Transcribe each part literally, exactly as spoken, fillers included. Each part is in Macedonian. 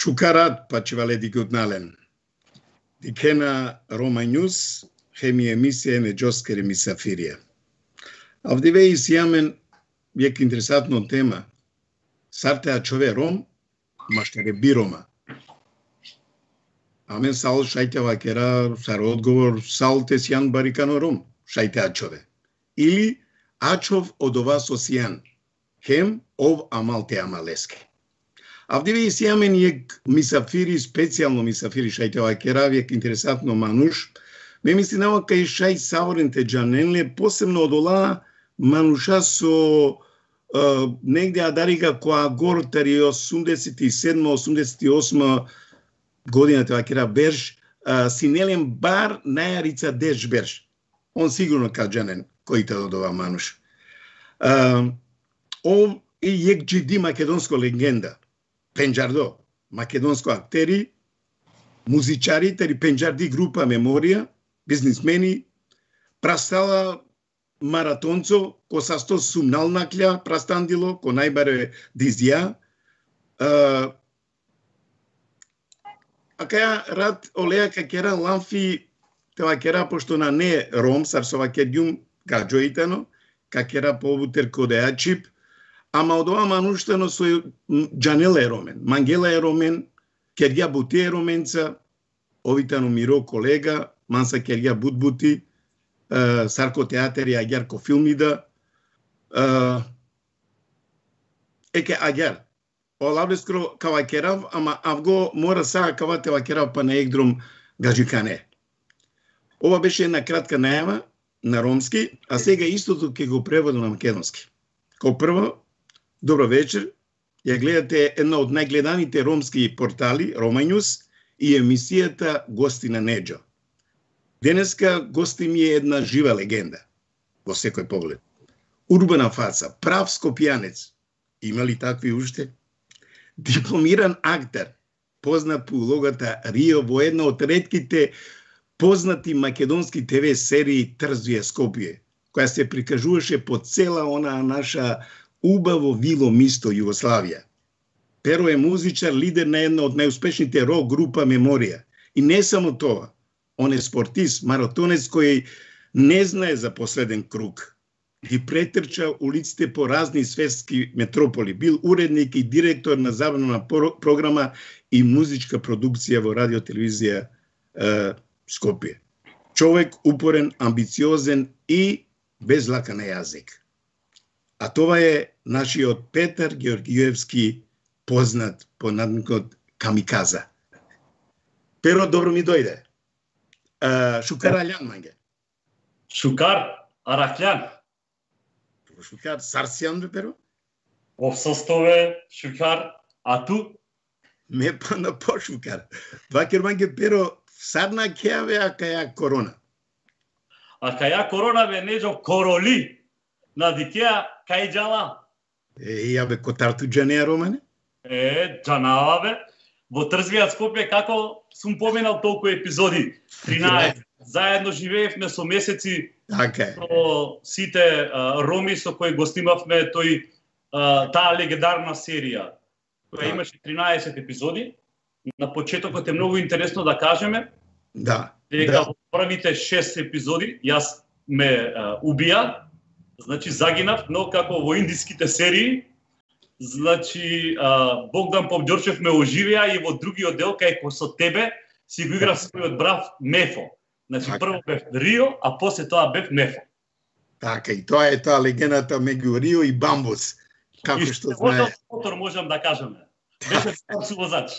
Шукарат пачеваледи гуднален. Дикена Рома Ньюс, хеми емисија не Джоскери Мисафирија. Авдиве и сијамен век интересантно тема. Сартеа чове Ром, маштаре би Рома. Амен сал шајтева кера сар одговор сал те сијан барикано Ром, шајтеа чове. Или ачов од ова со сијан, хем ов амал те амалеске. Авдиве и сијамен јек мисафири, специјално мисафири шајтева кера век интересантно мануш, ме мисли нава кај шај саворенте джаненле, посебно од ола мануша со uh, негде адарига која гортари осумдесет и седма осумдесет и осма година тоа кера берж, uh, синелен бар најарица деш берж. Он сигурно каджанен кој те додова мануш. Uh, он и јек джиди македонско легенда. Пенџардо, македонско актери, музичари, тери Пенџарди група Меморија, бизнисмени, прастала маратонцо, ко састо сумнал наклја, прастандило, ко најбаре дизија. А каја рад олеја ка кера ламфи, тева кера, пошто на не ром, сарсова кедјум гаджоитано, ка кера повутер кодеа чип, ама од ова мануштано со Джанела е ромен, Мангела е ромен, Кергја Бути е роменца, овитано Миро колега, Манса Кергја Бутбути, uh, Сарко театер и Агјарко филмида. Uh, еке Агјар, олавлескро кава керав, ама авго мора саа кава тева керав па на егдром гаджикане. Ова беше една кратка најава на ромски, а сега истото ќе го преводам на македонски. Као прво, добро вечер, ја гледате една од најгледаните ромски портали, Рома Ньюс, и емисијата Гости на Неџо. Денеска гости ми е една жива легенда, во секој поглед. Урбана фаца, прав скопјанец. Има ли такви уште? Дипломиран актер, познат по улогата Рио во една од ретките познати македонски ТВ серии Трзвија Скопје, која се прикажуваше по цела онаа наша убаво вило мисто Југославија. Перо е музичар, лидер на една од најуспешните рок група Меморија. И не само тоа, он е спортист, маратонец кој не знае за последен круг. Ги претрча улиците по разни светски метрополи. Бил уредник и директор на забавна програма и музичка продукција во радиотелевизија е, Скопје. Човек упорен, амбициозен и без лака на јазик. А това е нашиот Петар Георгиевски, познат по надникот Камиказа. Перо, добро ми дојде. Uh, Шукар Аљан, манге. Шукар Аракљан. Шукар Сарсијан, бе, Перо? Ов состове, Шукар, а ту? Ме па на по Шукар. Вакер, манге, Перо, сарна кеаве, а каја корона. А каја корона, бе, неđо короли. На дикеа кај джала? Е, ја бе, котарту джанеа романе? Е, джанава бе. Во Трзвија Скопје како сум поменал толку епизоди. тринаесет. Заедно живеевме со месеци така со сите а, роми со кои го снимавме тој а, таа легендарна серија која имаше тринаесет епизоди. На почетокот е многу интересно да кажеме да, дека да. во првите шест епизоди јас ме а, убија. Значи загинав, но како во индиските серии, значи а, Богдан Попџорчев ме оживеа и во другиот дел кај со тебе си го играв својот брав Мефо. Значи така. Прво бев Рио, а после тоа бев Мефо. Така, и тоа е таа легендата меѓу Рио и Бамбус. Како и што знае. Мотор можам да кажеме. Беше сувозач.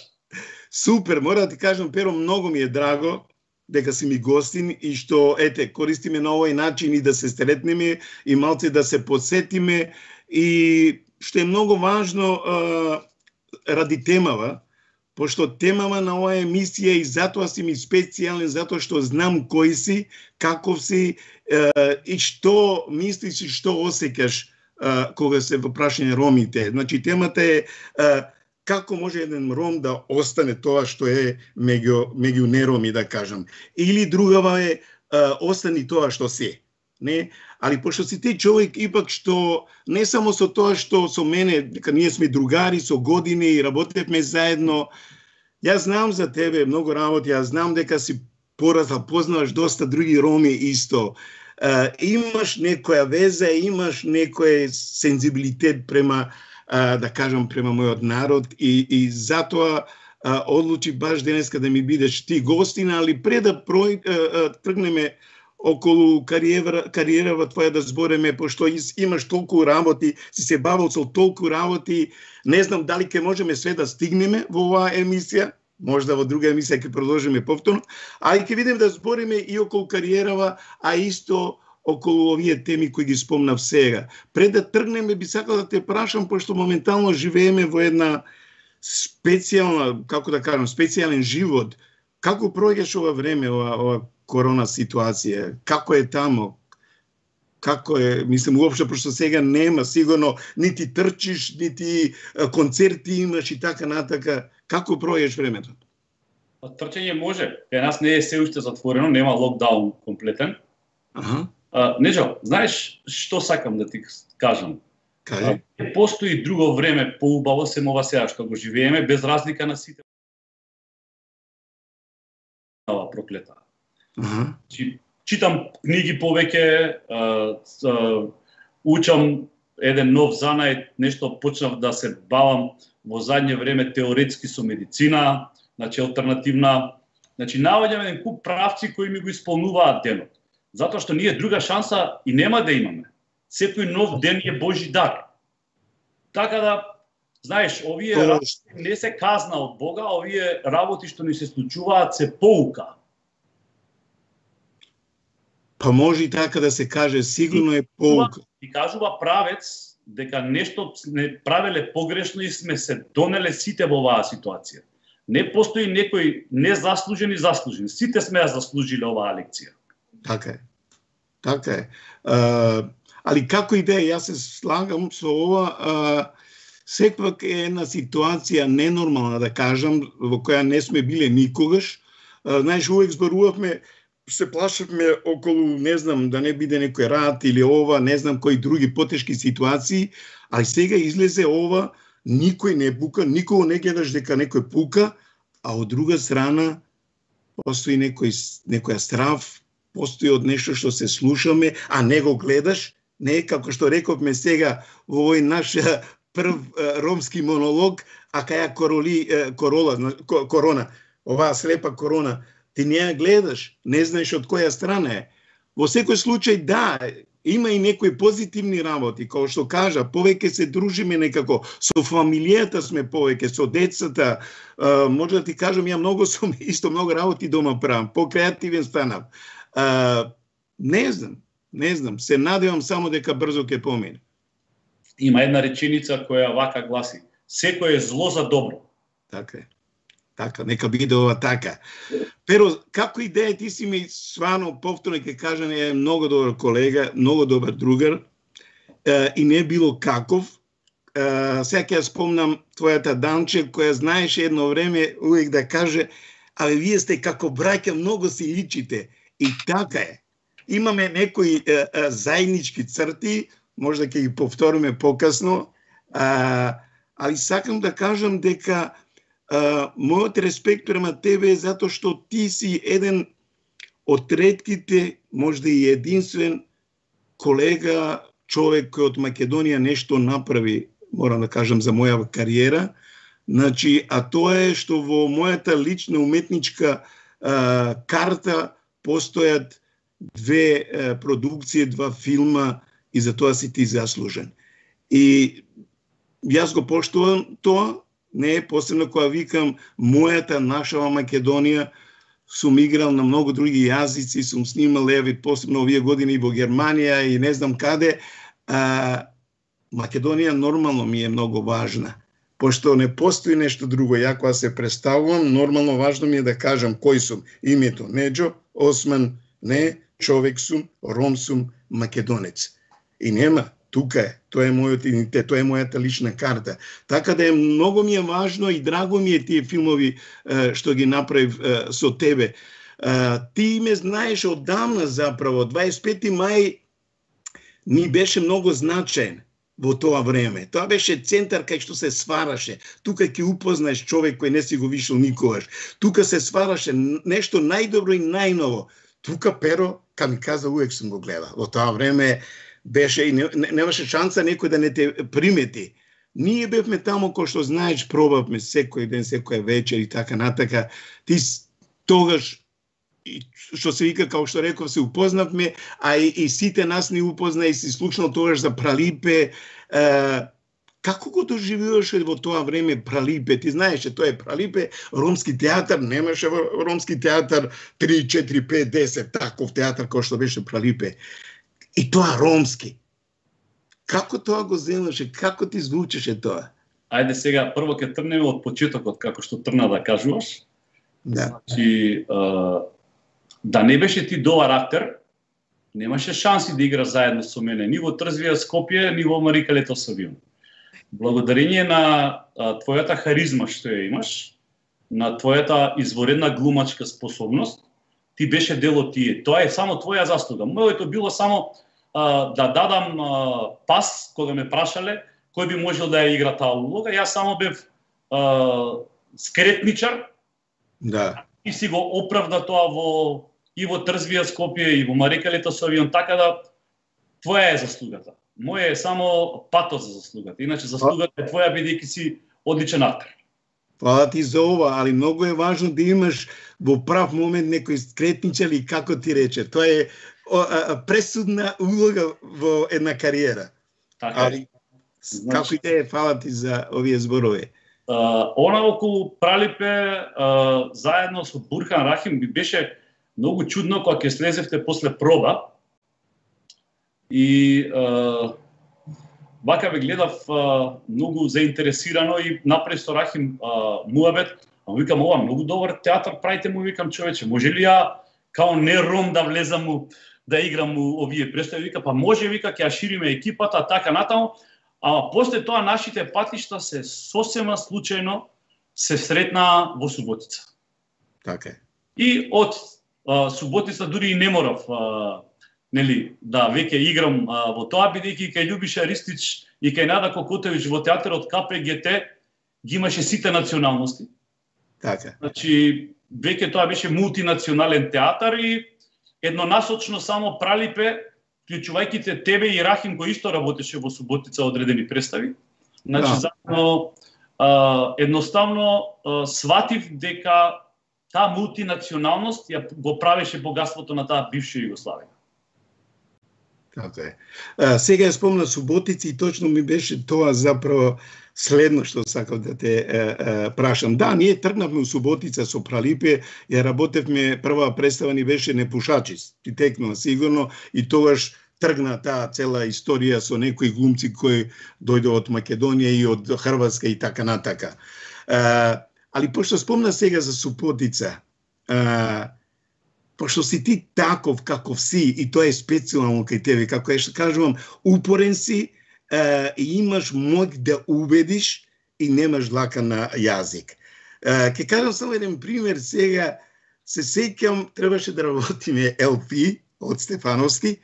Супер, мора да ти кажам, Перо, многу ми е драго дека си ми гостин и што, ете, користиме на овој начин и да се сретнеме и малце да се подсетиме и што е многу важно а, ради темава, пошто темава на оваа емисија и затоа си ми специјален, затоа што знам кој си, каков си а, и што мислиш и што осеќаш а, кога се во прашање ромите. Значи, темата е а, како може еден ром да остане тоа што е меѓу, меѓу нероми, да кажам. Или другава е а, остани тоа што се. Не? Али пошто си ти човек ипак што не само со тоа што со мене, дека ние сме другари со години и работевме заедно, Јас знам за тебе многу работи, јас знам дека си порасла, познаваш доста други роми исто. Uh, имаш некоја веза, имаш некој сензибилитет према, uh, да кажам, према мојот народ и, и затоа uh, одлучи баш денеска да ми бидеш ти гостина, али пред да прој, uh, uh, тргнеме околу кариера, кариерава твоја да збореме, пошто имаш толку работи, си се бавил со толку работи, не знам дали ќе можеме све да стигнеме во оваа емисија, можда во друга емисија ќе продолжиме повторно, а и ќе видим да збориме и околу кариерава, а исто околу овие теми кои ги спомнав сега. Пред да тргнеме, би сакал да те прашам, пошто моментално живееме во една специјална, како да кажам, специјален живот. Како проѓаш ова време, ова, ова корона ситуација? Како е тамо? Како е, мислам, уопшто, пошто сега нема, сигурно, нити трчиш, нити концерти имаш и така натака. Како пројеш времето? Трчање може. Кај нас не е се уште затворено, нема локдаун комплетен. Аха. Uh, Неджо, знаеш што сакам да ти кажам? Кажи. Uh, постои друго време поубаво сем ова сега што го живееме, без разлика на сите. Ова проклета. Аха. Чи, читам книги повеќе, uh, uh, учам еден нов занајд, нешто почнав да се бавам во задње време теоретски со медицина, значи алтернативна. Значи наоѓаме еден куп правци кои ми го исполнуваат денот. Затоа што ние друга шанса и нема да имаме. Секој нов ден е Божи дар. Така да, знаеш, овие работи не се казна од Бога, овие работи што ни се случуваат се поука. Па може и така да се каже, сигурно е поука. И кажува правец дека нешто не правеле погрешно и сме се донеле сите во оваа ситуација. Не постои некој незаслужен и заслужен. Сите сме ја заслужиле оваа лекција. Така е. Така е. А, али како и да е, јас се слагам со ова, а, секвак е една ситуација ненормална, да кажам, во која не сме биле никогаш. А, знаеш, увек зборувавме, се плашавме околу, не знам, да не биде некој рат или ова, не знам кои други потешки ситуации, а сега излезе ова, никој не пука, никого не гледаш дека некој пука, а од друга страна постои некој, некоја страв, постои од нешто што се слушаме, а не го гледаш, не како што рековме сега во овој наш прв ромски монолог, а каја короли, корола, корона, оваа слепа корона, ти не ја гледаш, не знаеш од која страна е. Во секој случај, да, има и некои позитивни работи, како што кажа, повеќе се дружиме некако, со фамилијата сме повеќе, со децата, uh, може да ти кажам, ја многу сум, исто многу работи дома правам, по-креативен станав. Uh, не знам, не знам, се надевам само дека брзо ќе помине. Има една реченица која вака гласи: секој е зло за добро. Така е. Така, нека биде ова така. Pero, како и да е, ти си ми свано, повторно ќе кажам, е многу добар колега, многу добар другар, uh, и не било каков. Uh, сега ќе спомнам твојата Данче, која знаеше едно време увек да каже: абе, вие сте како браќа, многу си личите. И така е. Имаме некои е, е, заеднички црти, може да ќе ги повториме покасно, а, али сакам да кажам дека а, мојот респект према тебе е затоа што ти си еден од ретките, можда и единствен колега, човек кој од Македонија нешто направи, морам да кажам, за моја кариера. Значи, а тоа е што во мојата лична уметничка а, карта постојат две е, продукции, два филма и за тоа си ти заслужен. И јас го поштувам тоа, не е посебно кога викам мојата, нашава Македонија, сум играл на многу други јазици, сум снимал еви посебно овие години и во Германија и не знам каде. А, Македонија нормално ми е многу важна, пошто не постои нешто друго. Ја кога се представувам, нормално важно ми е да кажам кој сум. Името Неджо Осман, не, човек сум, ром сум, македонец. И нема, тука е, тоа е мојот идентитет, тоа е мојата лична карта. Така да е многу ми е важно и драго ми е тие филмови е, што ги направив е, со тебе. Е, ти ме знаеш одамна заправо, дваесет и пети мај ми беше многу значаен. во тоа време. Тоа беше центар кај што се свараше. Тука ќе упознаеш човек кој не си го вишил никогаш. Тука се свараше нешто најдобро и најново. Тука Перо Камиказа увек сум го гледал. Во тоа време беше и не, не, немаше шанса некој да не те примети. Ние бевме таму кој што знаеш, пробавме секој ден, секоја вечер и така натака. Ти тогаш и што се вика, како што реков, се упознавме, а и, и сите нас ни упозна и си слушнал тогаш за Пралипе. Е, како го доживуваше во тоа време Пралипе? Ти знаеше, тоа е Пралипе, ромски театар, немаше ромски театар три, четири, пет, десет, таков театар кој што беше Пралипе. И тоа ромски. Како тоа го земаше, како ти звучеше тоа? Ајде сега, прво ќе трнеме од почетокот, како што трна да кажуваш. Да. Значи, а, да не беше ти добар актер, немаше шанси да игра заедно со мене, ни во Трзвија Скопје, ни во Марика Летосавион. Благодарение на а, твојата харизма што ја имаш, на твојата изворедна глумачка способност, ти беше дел од тие. Тоа е само твоја заслуга. Моето било само а, да дадам а, пас кога ме прашале кој би можел да ја игра таа улога. Јас само бев а, скретничар. Да. И си го оправда тоа во и во Трзвија Скопје и во Марика Летосавион, така да твоја е заслугата. Моја е само патот за заслугата. Иначе заслугата е твоја бидејќи си одличен актер. Фала ти за ова, али многу е важно да имаш во прав момент некој скретничар или како ти рече. Тоа е о, а, пресудна улога во една кариера. Така али, значи, како и да е, фала ти за овие зборови. Uh, она околу Пралипе uh, заедно со Бурхан Рахим би беше многу чудно кога ќе слезевте после проба и uh, вака ве гледав uh, многу заинтересирано и направи со Рахим uh, муабет, а викам ова многу добар театар правите му, викам човече, може ли ја као не ром да влезам му да играм му овие представи, вика па може, вика ќе ја шириме екипата така натаму. Ама после тоа нашите патишта се сосема случајно се сретна во Суботица. Така е. И од а, Суботица дури и не морав а, нели, да веќе играм а, во тоа, бидејќи кај Љубиша Ристич и кај Нада Кокотевич во театарот Ка Пе Ге Те ги имаше сите националности. Така. Значи, веќе тоа беше мултинационален театар и еднонасочно само Пралипе, вклучувајќи те тебе и Рахим кој исто работеше во Суботица одредени представи. Значи, да. Заедно а, едноставно а, сватив дека таа мултинационалност ја го правеше богатството на таа бивша Југославија. Така е. А, сега ја спомна Суботица и точно ми беше тоа заправо следно што сакав да те е, е, прашам. Да, ние тргнавме у Суботица со Пралипе, ја работевме, прва представа ни беше Непушачи, ти текнува сигурно, и тогаш тргна таа цела историја со некои глумци кои дојде од Македонија и од Хрватска и така натака. А, али пошто спомна сега за Суботица, а, пошто си ти таков каков си, и тоа е специјално кај тебе, како што кажувам, упорен си, Uh, и имаш моќ да убедиш и немаш лака на јазик. Uh, ке кажам само еден пример, сега се сеќам, требаше да работиме Ел Пи од Стефановски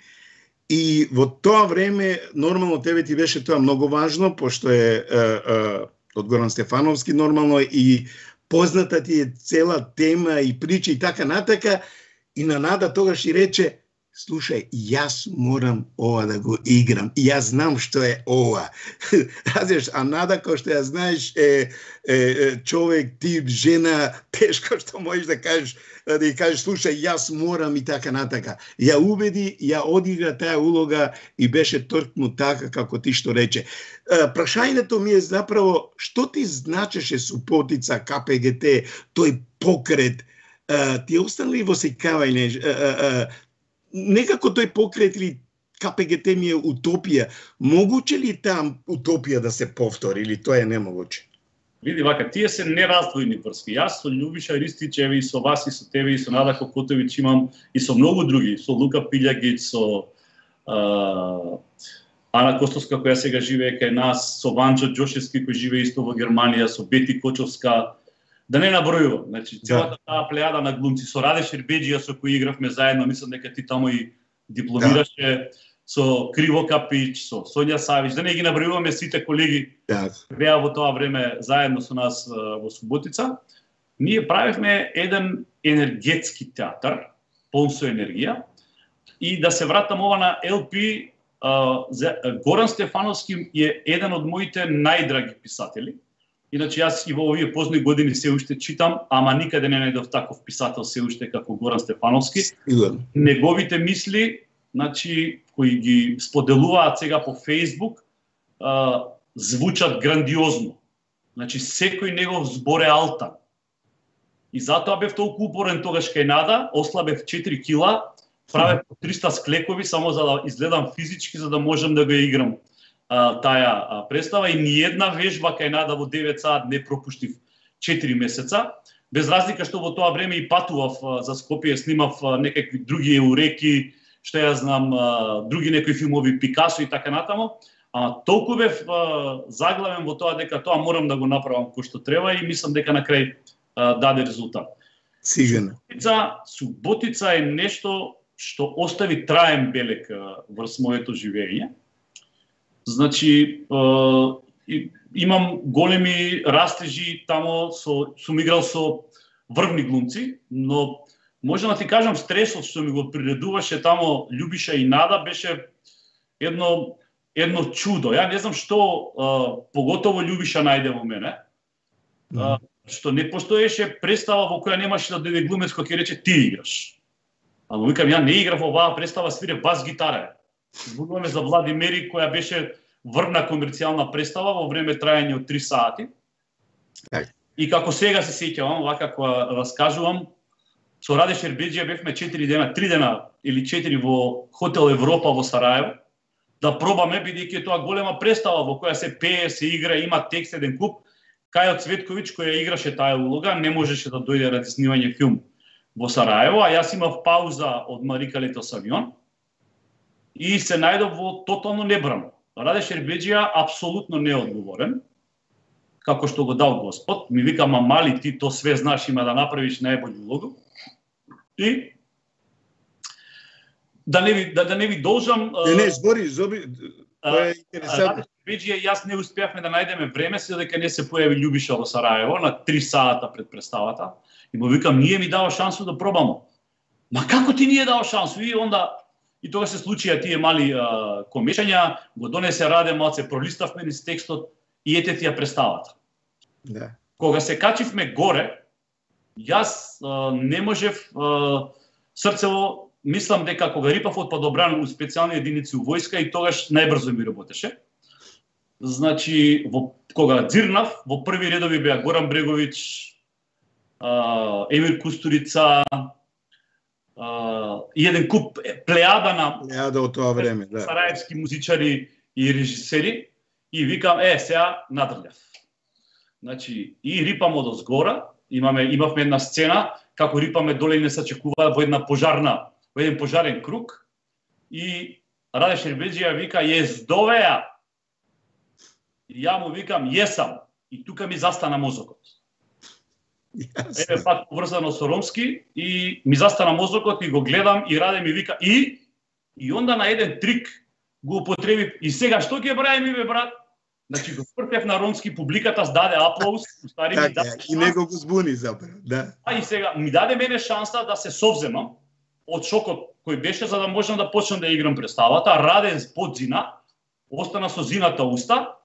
и во тоа време, нормално тебе ти беше тоа многу важно, пошто е uh, uh, од Горан Стефановски нормално и позната ти е цела тема и прича и така натака, и на Нада тогаш и рече: слушај, јас морам ова да го играм. И јас знам што е ова. Разумеш, а Нада, кој што ја знаеш, е, е, е човек, тип, жена, тешко што можеш да кажеш, да ја кажеш, слушај, јас морам и така натака. Ја убеди, ја одигра таа улога и беше точно така како ти што рече. Прашањето ми е заправо, што ти значеше Суботица, Ка Пе Ге Те, тој покрет, ти останали во сеќавање? Некако тој покрет или Ка Пе Ге Те ми е утопија. Могуче ли таа утопија да се повтори или тоа е немогуче? Види вака, тие се нераздвојни врски. Јас со Љубиша Ристичеви и со вас и со тебе и со Нада Кокотевич имам и со многу други, со Лука Пилјагиć, со а, Ана Костовска која сега живее кај нас, со Ванчо Џошевски кој живее исто во Германија, со Бети Кочовска. Да не набројувам, значи целата таа плејада на глумци, со Раде Шербеџија со кој игравме заедно, мислам дека ти таму и дипломираше, со Криво Капич, со Сонја Савич, да не ги набројуваме сите колеги Да. беа во тоа време заедно со нас во Суботица, ние правевме еден енергетски театар, полн со енергија. И да се вратам ова на Ел Пи, Горан Стефановски е еден од моите најдраги писатели. Иначе јас и во овие позни години се уште читам, ама никаде не најдов таков писател се уште како Горан Стефановски. Сигурно. Неговите мисли, значи, кои ги споделуваат сега по Фејсбук, звучат грандиозно. Значи, секој негов збор е алтан. И затоа бев толку упорен тогаш кај Нада, ослабев четири кила, правев триста склекови само за да изгледам физички, за да можам да го играм а, таа а, представа. И ни една вежба кај Нада во девет саат не пропуштив четири месеца. Без разлика што во тоа време и патував а, за Скопје, снимав а, некакви други еуреки, што ја знам, а, други некои филмови, Пикасо и така натаму. А толку бев а, заглавен во тоа дека тоа морам да го направам кој што треба и мислам дека на крај а, даде резултат. Сигурно. Суботица, Суботица е нешто што остави траен белег врз моето живење. Значи, е, имам големи растежи тамо, со, сум играл со врвни глумци, но можам да ти кажам, стресот што ми го приредуваше тамо Љубиша и Нада беше едно, едно чудо. Ја не знам што е, поготово Љубиша најде во мене, е, што не постоеше представа во која немаше да дојде глумец кој ќе рече ти играш. Ама викам, ја не играв оваа представа, свире бас гитара. Зборуваме за Владимери, која беше врвна комерцијална представа во време трајање од три сати. И како сега се сеќавам, вака кога раскажувам, со Раде Шербеџија бевме четири дена, три дена или четири во Хотел Европа во Сараево, да пробаме, бидејќи тоа голема представа во која се пее, се игра, има текст еден куп. Кајо Цветковиќ, која играше таа улога, не можеше да дојде ради снимање филм во Сараево, а јас имав пауза од Марика Летос авион и се најдов во тотално небрано. Раде Шербеџија апсолутно неодговорен, како што го дал Господ. Ми вика, ма мали, ти то све знаш, има да направиш најбољу улогу. И да не ви, да, да не ви должам... Не, не, збори, збори, тоа е интересантно. Раде Шербеџија и јас не успеавме да најдеме време, се дека не се појави Љубиша во Сараево на три сата пред представата. И му викам, ние ми дава шансу да пробамо. Ма како ти ние дава шансу? И онда, и тога се случија тие мали а, комешања, го донесе Раде, малце пролиставме низ текстот и ете ти ја представата. Да. Кога се качивме горе, јас а, не можев а, срцево, мислам дека кога рипав од падобран у специјални единици у војска и тогаш најбрзо ми работеше. Значи, во, кога дзирнав, во први редови беа Горан Бреговиќ, Uh, Емир Кустурица uh, и еден куп плејада на плејада од тоа време, да. Сараевски музичари и режисери и викам, е, сега надрљав. Значи, и рипам од озгора, имаме имавме една сцена како рипаме доле и не се чекува во една пожарна, во еден пожарен круг и Раде Шербеџија вика, јездовеа. И ја му викам, јесам. И тука ми застана мозокот. Еве пак поврзано со ромски и ми застана мозокот и го гледам и Раде ми вика и и онда на еден трик го употреби и сега што ќе правиме бе брат? Значи го спртев на ромски, публиката даде аплауз, стари ми даде и него го збуни заpravo, да. А и сега ми даде мене шанса да се совземам од шокот кој беше за да можам да почнам да играм представата. Раде под зина, остана со зината уста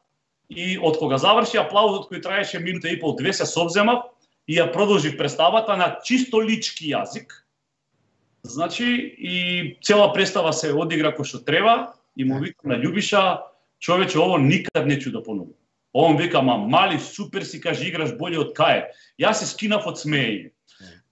и од кога заврши аплаузот кој траеше минута и пол две се совземав и ја продолжив представата на чисто лички јазик. Значи, и цела представа се одигра кој што треба и му викам на Љубиша, човече, ово никад не чу да понувам. Он вика, ма мали, супер си, каже, играш боље од кај. Јас се скинав од смеење.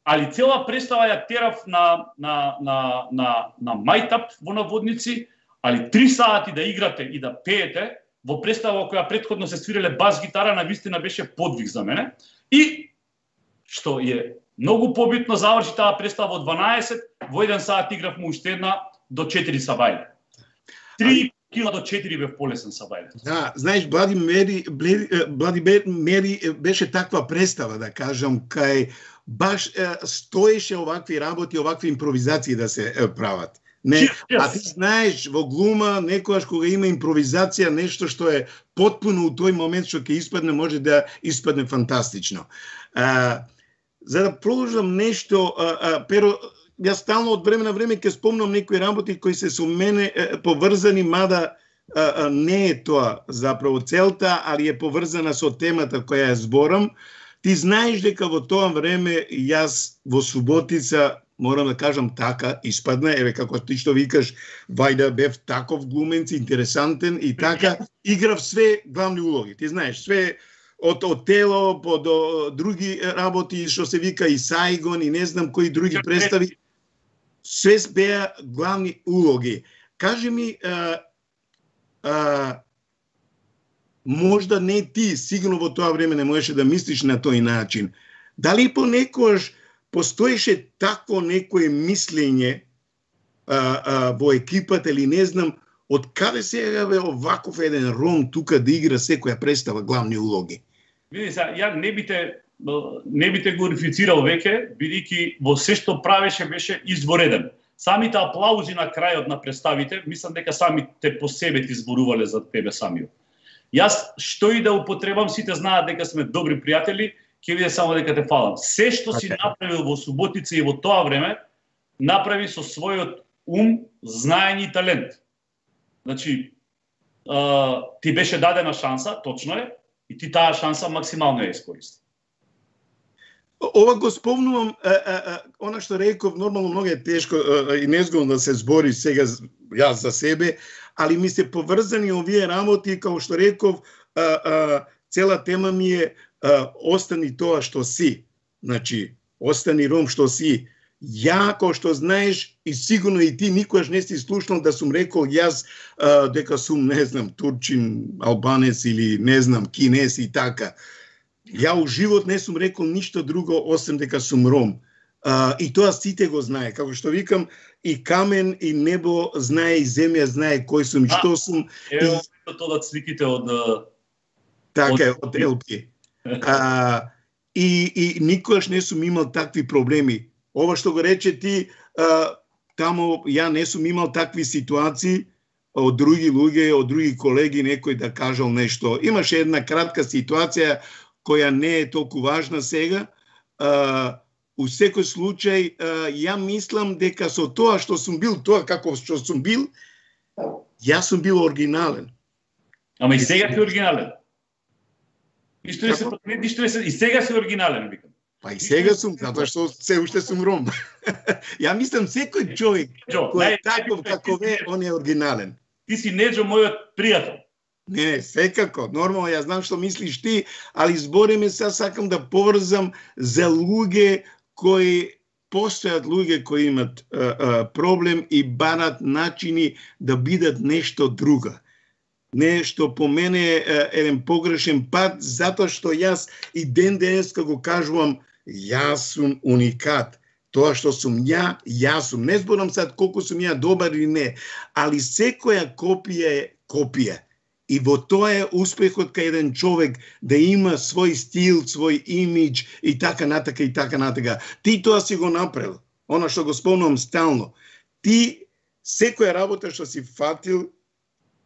Али цела представа ја терав на, на, на, на, на мајтап во наводници, али три сати да играте и да пеете, во представа која претходно се свиреле бас гитара, на вистина беше подвиг за мене. И што е многу побитно, заврши таа представа во дванаесет, во еден саат игравме уште една до четири сабајле. три кила до четири бев полесен сабајле. Да, знаеш, Блади Мери, Блади Мери беше таква представа, да кажам, кај баш стоеше овакви работи, овакви импровизации да се прават. Не, а ти знаеш, во глума, некојаш кога има импровизација, нешто што е потпуно у тој момент што ќе испадне, може да испадне фантастично. А, за да продолжам нешто, а, а, Перо, јас стално од време на време ќе спомнам некои работи кои се со мене е, поврзани, мада а, а, не е тоа заправо целта, али е поврзана со темата која ја зборам. Ти знаеш дека во тоа време јас во Суботица, морам да кажам така, испадна, еве како ти што викаш, вајда бев таков глуменц, интересантен и така, играв све главни улоги. Ти знаеш, све од Отело по до други работи, што се вика и Сайгон и не знам кои други представи, све беа главни улоги. Кажи ми, а, а, можда не ти, сигурно во тоа време не можеше да мислиш на тој начин. Дали понекогаш постоеше такво некое мислење а, а, во екипата или не знам, од каде сега бе оваков еден Ром тука да игра секоја представа главни улоги? Види се, ја не бите не бите глорифицирал веќе, бидејќи во се што правеше беше извореден. Самите аплаузи на крајот на представите, мислам дека самите по себе ти зборувале за тебе самиот. Јас што и да употребам, сите знаат дека сме добри пријатели, ќе биде само дека те фалам. Се што си направил во Суботица и во тоа време, направи со својот ум, знаење и талент. Значи, а, ти беше дадена шанса, точно е, и ти таа шанса максимално ја искористи. Ова го спомнувам, а, а, а, она што реков, нормално многу е тешко а, и незгодно да се збори сега јас за себе, али ми се поврзани овие работи, како што реков, а, а, цела тема ми е а, остани тоа што си. Значи, остани Ром што си. Ја, кој што знаеш, и сигурно и ти никогаш не си слушнал да сум рекол јас а, дека сум, не знам, турчин, албанец или не знам, кинес и така. Ја у живот не сум рекол ништо друго освен дека сум Ром. А, и тоа сите го знае. Како што викам, и камен, и небо знае, и земја знае кој сум, и што сум. Ево, и... тоа да сликите од... Така е, од Ел Пи. А, и, и никогаш не сум имал такви проблеми. Ова што го рече ти, а, тамо ја не сум имал такви ситуации од други луѓе, од други колеги, некој да кажал нешто. Имаше една кратка ситуација која не е толку важна сега. А, у секој случај, а, ја мислам дека со тоа што сум бил, тоа како што сум бил, јас сум бил оригинален. Ама и сега си оригинален. Ништо не се промени, ништо не се, и сега си оригинален, викам. Па и сега сум, затоа што се уште сум Ром. Ја мислам секој човек кој е таков како е, он е оригинален. Ти си Неджо мојот пријател. Не, секако, нормално, ја знам што мислиш ти, али збориме се, сакам да поврзам за луѓе кои постојат, луѓе кои имат а, а, проблем и барат начини да бидат нешто друго. Нешто по мене е еден погрешен пат, затоа што јас и ден денеска го кажувам, јас сум уникат. Тоа што сум ја, јас сум. Не зборам сад колку сум ја добар или не, али секоја копија е копија. И во тоа е успехот кај еден човек да има свој стил, свој имидж и така натака и така натака. Ти тоа си го направил. Она што го спомнувам стално. Ти секоја работа што си фатил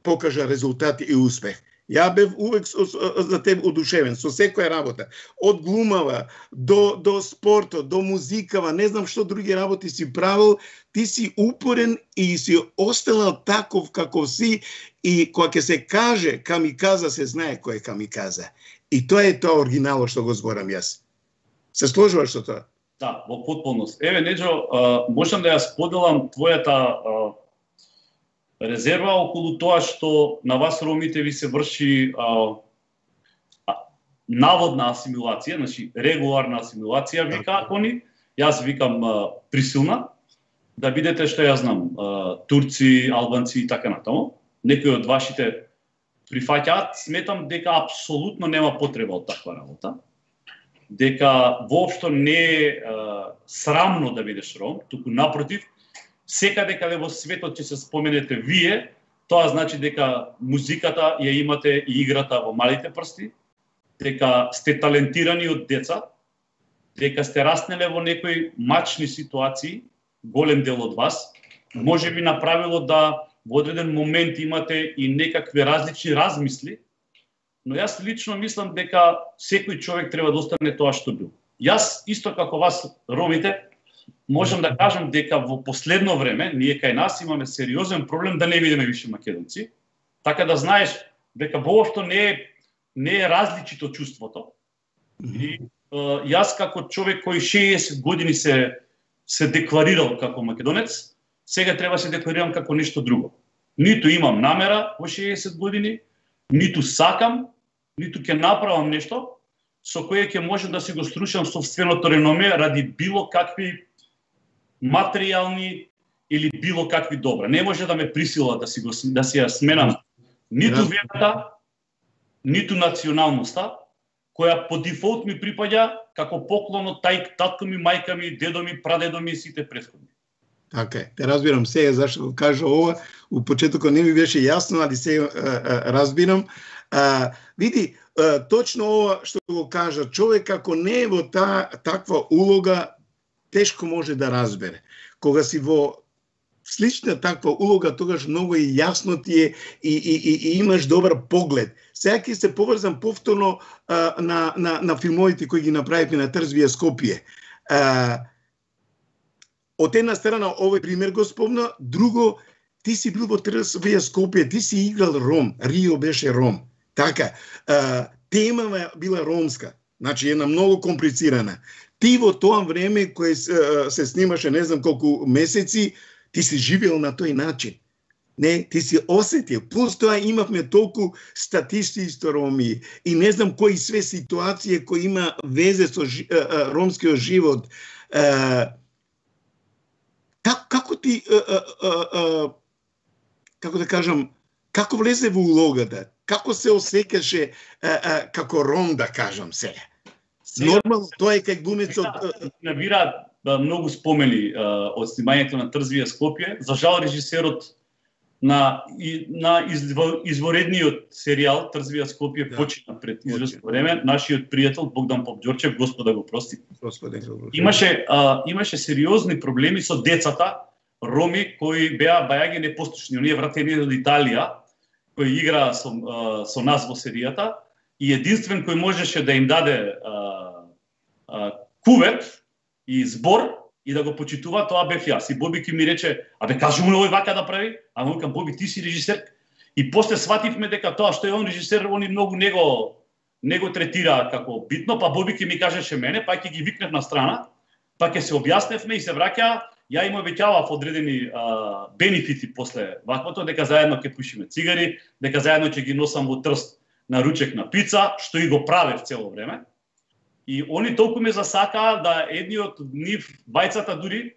покажа резултати и успех. Ја бев увек за тебе одушевен со секоја работа. Од глумава до до спортот, до музикава, не знам што други работи си правил, ти си упорен и си останал таков како си, и кога ќе се каже камиказа, се знае кој е камиказа. И тоа е тоа оригинало што го зборам јас. Се сложуваш со тоа? Да, во потполност. Еве, Неджо, можам да ја споделам твојата резерва околу тоа што на вас ромите ви се врши а, а, наводна асимилација, значи регуларна асимилација вика они, јас викам а, присилна, да бидете што ја знам, а, турци, албанци и така натаму. Некои од вашите прифаќаат, сметам дека апсолутно нема потреба од таква работа, дека воопшто не е а, срамно да бидеш Ром, туку напротив, секаде каде во светот ќе се споменете вие, тоа значи дека музиката ја имате и играта во малите прсти, дека сте талентирани од деца, дека сте раснеле во некои мачни ситуации, голем дел од вас, може би направило да во одреден момент имате и некакви различни размисли, но јас лично мислам дека секој човек треба да остане тоа што бил. Јас, исто како вас, ромите, можам да кажам дека во последно време, ние кај нас имаме сериозен проблем да не видиме више македонци, така да знаеш дека воопшто не е, не е различито чувството. И uh, јас како човек кој шеесет години се, се декларирал како македонец, сега треба се декларирам како нешто друго. Ниту имам намера во шеесет години, ниту сакам, ниту ќе направам нешто со кое ќе можам да си го струшам собственото реноме ради било какви материјални или било какви добра. Не може да ме присила да си го да си ја сменам ниту верата, ниту националноста, која по дефолт ми припаѓа како поклон од тај татко ми, мајка ми, дедо ми, прадедо ми и сите претходни. Така е, те разбирам сега зашто го кажа ова, у почетокот не ми беше јасно, али сега разбирам. А, види, а, точно ова што го кажа, човек ако не е во та, таква улога, тешко може да разбере. Кога си во слична таква улога, тогаш многу и јасно ти е и, и, и, и имаш добар поглед. Сега ќе се поврзам повторно а, на, на, на филмовите кои ги направивме на Трзвија Скопје. А, од една страна овој пример го спомна, друго, ти си бил во Трзвија Скопје, ти си играл Ром, Рио беше Ром. Така, а, темава била ромска, значи една многу комплицирана. Ти во тоа време кое се, се снимаше не знам колку месеци, ти си живеел на тој начин. Не, ти си осетил. Плюс тоа имавме толку статисти роми и не знам кои све ситуации кои има везе со жи, а, а, ромскиот живот. А, как, како ти, а, а, а, како да кажам, како влезе во улогата? Како се осеќаше како ром, да кажам сега? Нормално, тоа е кај глумецот. Набира многу спомени а, од снимањето на Трзвија Скопје. За жал режисерот на, и, на изворедниот серијал Трзвија Скопје да. Почина пред известно време. Нашиот пријател Богдан Попџорчев, Господа го прости. Господи, имаше, а, имаше сериозни проблеми со децата роми кои беа бајаги непослушни. Оние вратени од Италија, кој игра со, а, со нас во серијата, и единствен кој можеше да им даде а, а, кувет и збор и да го почитува, тоа бев јас. И Боби ки ми рече, абе кажи му овој вака да прави, а му викам, Боби, ти си режисер. И после свативме дека тоа што е он режисер, они многу него него третира како битно, па Боби ки ми кажеше мене, па ќе ги викнев на страна, па ќе се објасневме и се враќа. Ја им обеќавав одредени а, бенефити после ваквото, дека заедно ќе пушиме цигари, дека заедно ќе ги носам во Трст на ручек на пица, што и го правев цело време. И они толку ме засакаа да едни од нив, бајцата дури,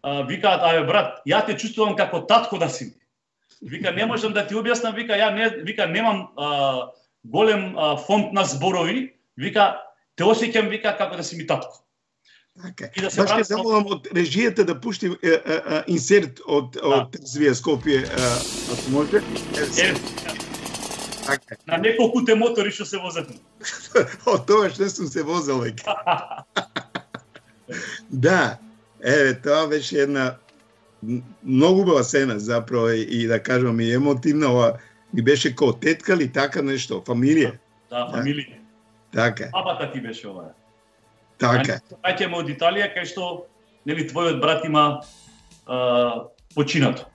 а, викаат, абе брат, ја те чувствувам како татко да си. Вика, не можам да ти објаснам, вика, ја не, вика, немам а, голем а, фонд на зборови, вика, те осеќам, вика, како да си ми татко. Така. Да Баш ќе замолам од режијата да пушти е, е, е, инсерт од од Трзвија Скопје, ако може. Е, така. На неколку те мотори што се возат. Од тоа што сум се возел веќе. Да, еве тоа беше една многу убава сцена заправо и да кажам и емотивна, ова ми беше како тетка ли така нешто, фамилија. Да, фамилија. Така. Бабата ти беше ова. Така. Ајќеме од Италија, кај што нели твојот брат има а, починато.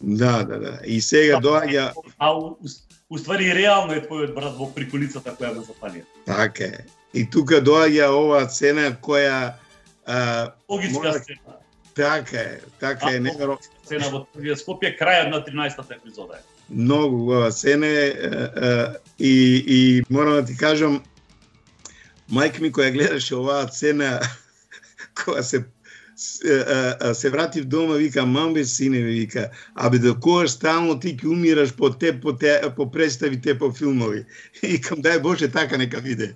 Да, да, да. И сега доаѓа. А у, у ствари реално е твојот брат во приколицата која го запалија. Така е. И тука доаѓа оваа сцена која а, логичка мора... сцена. Така е, така е, неверојатно. Сцена во Трзвија Скопје, крајот на тринаесеттата епизода е. Многу убава сцена е и и морам да ти кажам, мајка ми која гледаше оваа сцена, кога се се, се вратив дома, вика, мамбе, сине, вика, абе до кога стално ти ќе умираш по те, по, те, по представи, те по филмови. И викам, дај Боже, така нека биде.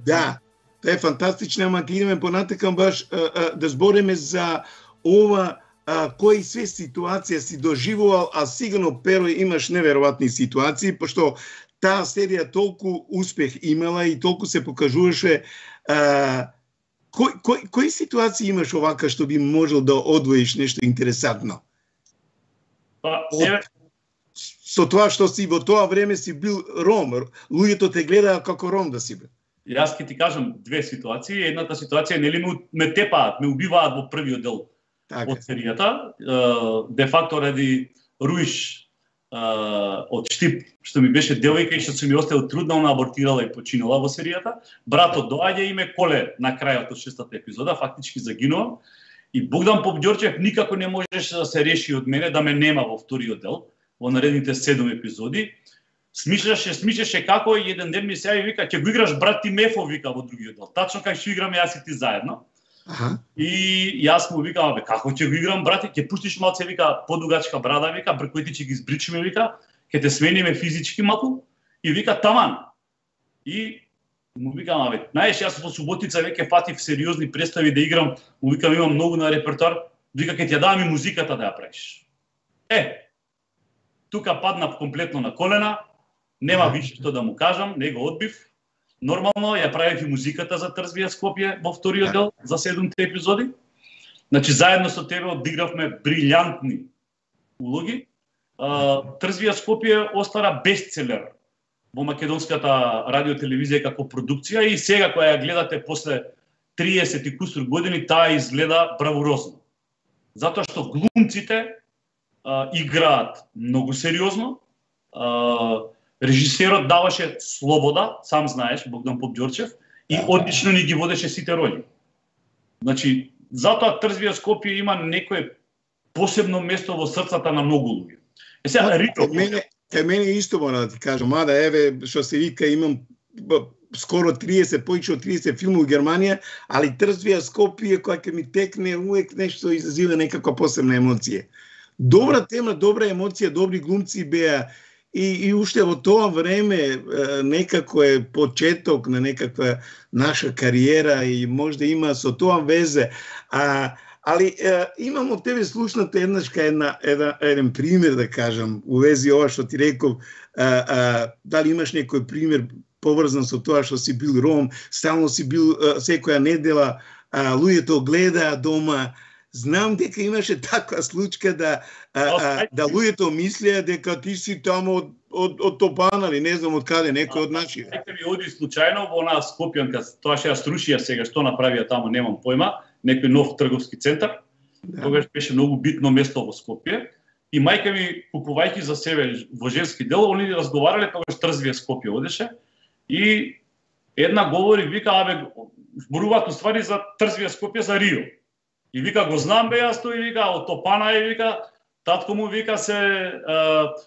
Да, тоа е фантастично, ама ќе идеме понатакам баш а, а, да збориме за ова а, кои све ситуација си доживувал, а сигурно Перо имаш неверојатни ситуации, пошто таа серија толку успех имала и толку се покажуваше. Кои, кои, кои ситуации имаш овака што би можел да одвоиш нешто интересантно? Па, еве, со тоа што си во тоа време си бил ром, луѓето те гледаа како ром да си бил. Јас ќе ти кажам две ситуации. Едната ситуација нели ме, ме тепаат, ме убиваат во првиот дел така од серијата. Де факто ради Руиш од Штип, што ми беше девојка и што се ми оставил трудна, она абортирала и починала во серијата. Братот доаѓа и ме коле на крајот од шестата епизода, фактички загинува. И Богдан Попѓорчев никако не можеше да се реши од мене да ме нема во вториот дел, во наредните седум епизоди. Смишляше, смишеше како и еден ден ми се јави вика ќе го играш брат Тимефов вика во другиот дел. Тачно како ќе играме јас и ти заедно. Аха. И јас му викам, бе, како ќе го играм брате, ќе пуштиш малце вика подугачка брада вика, бркоите ќе ги избричиме вика, ќе те смениме физички малку и вика таман. И му викам, бе, знаеш, јас во суботица веќе фатив сериозни представи да играм, му викам имам многу на репертоар, вика ќе ти ја дам и музиката да ја правиш. Е, тука паднав комплетно на колена. Нема више што да му кажам, не го одбив. Нормално ја правев и музиката за Трзвија Скопје во вториот дел за седумте епизоди. Значи заедно со тебе одигравме брилјантни улоги. Трзвија Скопје остара бестселер во македонската радиотелевизија како продукција и сега кога ја гледате после триесет и кусур години таа изгледа бравурозно. Затоа што глумците играат многу сериозно. Режисерот даваше слобода, сам знаеш, Богдан Попѓорчев, и одлично ни ги водеше сите роли. Значи, затоа Трзвија Скопје има некое посебно место во срцата на многу луѓе. Е сега Рито, мене, кај мене исто мора да ти кажам, мада еве што се вика имам скоро триесет, повеќе од триесет филмови во Германија, али Трзвија Скопје која ќе ми текне увек нешто изазива некаква посебна емоција. Добра тема, добра емоција, добри глумци беа. И, и уште во тоа време некако е почеток на некаква наша кариера и можда има со тоа везе. А, али е, имам од тебе слушната еднаш една, една, еден пример да кажам, у вези ова што ти реков, а, а, дали имаш некој пример поврзан со тоа што си бил ром, стално си бил а, секоја недела, а, луѓето гледаа дома. Знам дека имаше таква случка да а, а, да луѓето мислеа дека ти си таму од од од Топан или не знам од каде, некој од нашите. Нека ми оди случајно во онаа Скопјанка, тоа што ја срушија сега, што направија таму, немам појма, некој нов трговски центар. Да. Тогаш беше многу битно место во Скопје и мајка ми купувајќи за себе во женски дел, они разговарале тогаш Трзвија Скопје одеше и една говори вика абе зборуваат уствари за Трзвија Скопје за Рио. И вика го знам бе јас тој вика од Топана и вика татко му вика се е,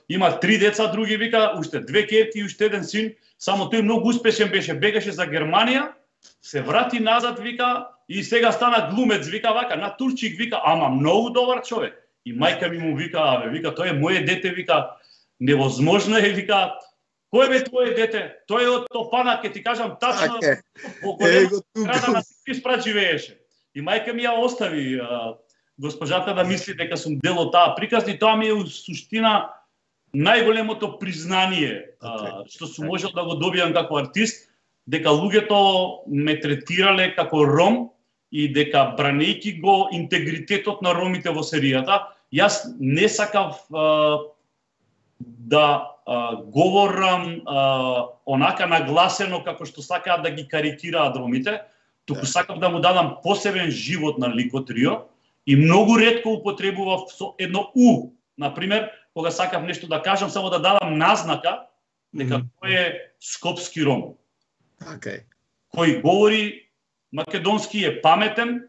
има три деца, други вика уште две ќерки и уште еден син, само тој многу успешен беше, бегаше за Германија, се врати назад вика и сега стана глумец вика вака на турчик вика, ама многу добар човек. И мајка ми му вика абе вика тој е моје дете вика, невозможно е вика. Кој бе твое дете? Тој е од Топана, ќе ти кажам тачно во голема града на Сиписпрат живееше. И мајка ми ја остави а, госпожата да мисли дека сум дел од таа приказна и тоа ми е у суштина најголемото признание а, што сум можел да го добијам како артист, дека луѓето ме третирале како ром и дека бранејќи го интегритетот на ромите во серијата, јас не сакав а, да а, говорам а, онака нагласено како што сакаат да ги карикираат ромите, туку сакав да му дадам посебен живот на ликот Рио и многу ретко употребував со едно у, например, кога сакав нешто да кажам, само да дадам назнака дека тој е скопски ром. Okay. Кој говори македонски, е паметен,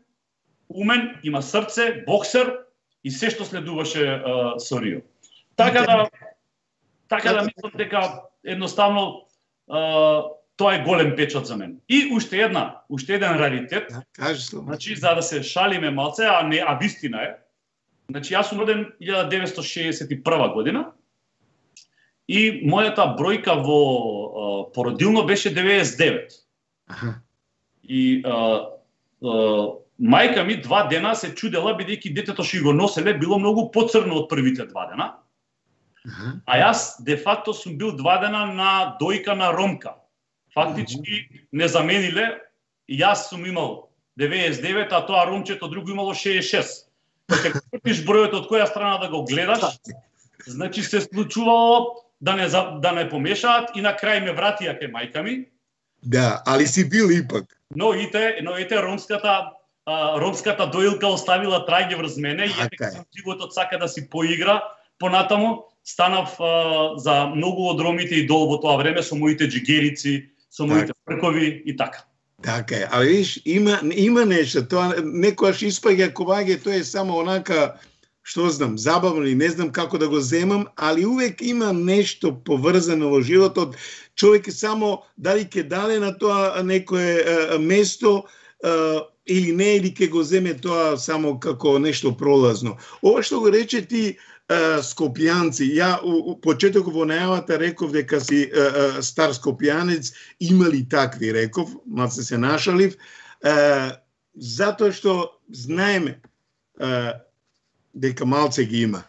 умен, има срце, боксер и се што следуваше uh, со Рио. Така да така да мислам дека едноставно uh, тоа е голем печат за мен. И уште една, уште еден раритет. Да, кажи слова. Значи за да се шалиме малце, а не а вистина е. Значи јас сум роден илјада деветстотини шеесет и прва година. И мојата бројка во а, породилно беше деветдесет и девет. Аха. И а, а, мајка ми два дена се чудела бидејќи детето што го носеле било многу поцрно од првите два дена. Аха. А јас де факто сум бил два дена на дојка на ромка. Фактички не замениле, и јас сум имал деветдесет и девет, а тоа ромчето друго имало шеесет и шест. Кога ќе кртиш бројот од која страна да го гледаш, Значи се случувало да не да не помешаат и на крај ме вратија кај мајка ми. Да, али си бил ипак. Но ите, но ите ромската а, ромската доилка оставила траѓи врз мене и Така е. животот сака да си поигра. Понатаму станав а, за многу од ромите идол во тоа време со моите джигерици, со моите фркови и така. Така е, ali viš, ima, ima nešto, to nekojaš ispage kovage, to je samo onaka, što znam, zabavno i ne znam kako da go zemam, ali uvek ima nešto povrzano во животот. Човек само дали ке даде на тоа некое а, место а, или не, или ке го земе тоа само како нешто пролазно. Ова што го рече ти а, скопјанци, ја у, у почеток во најавата реков дека си а, а, стар скопјанец, имали такви, реков, малце се нашалив, а, затоа што знаеме а, дека малце ги има.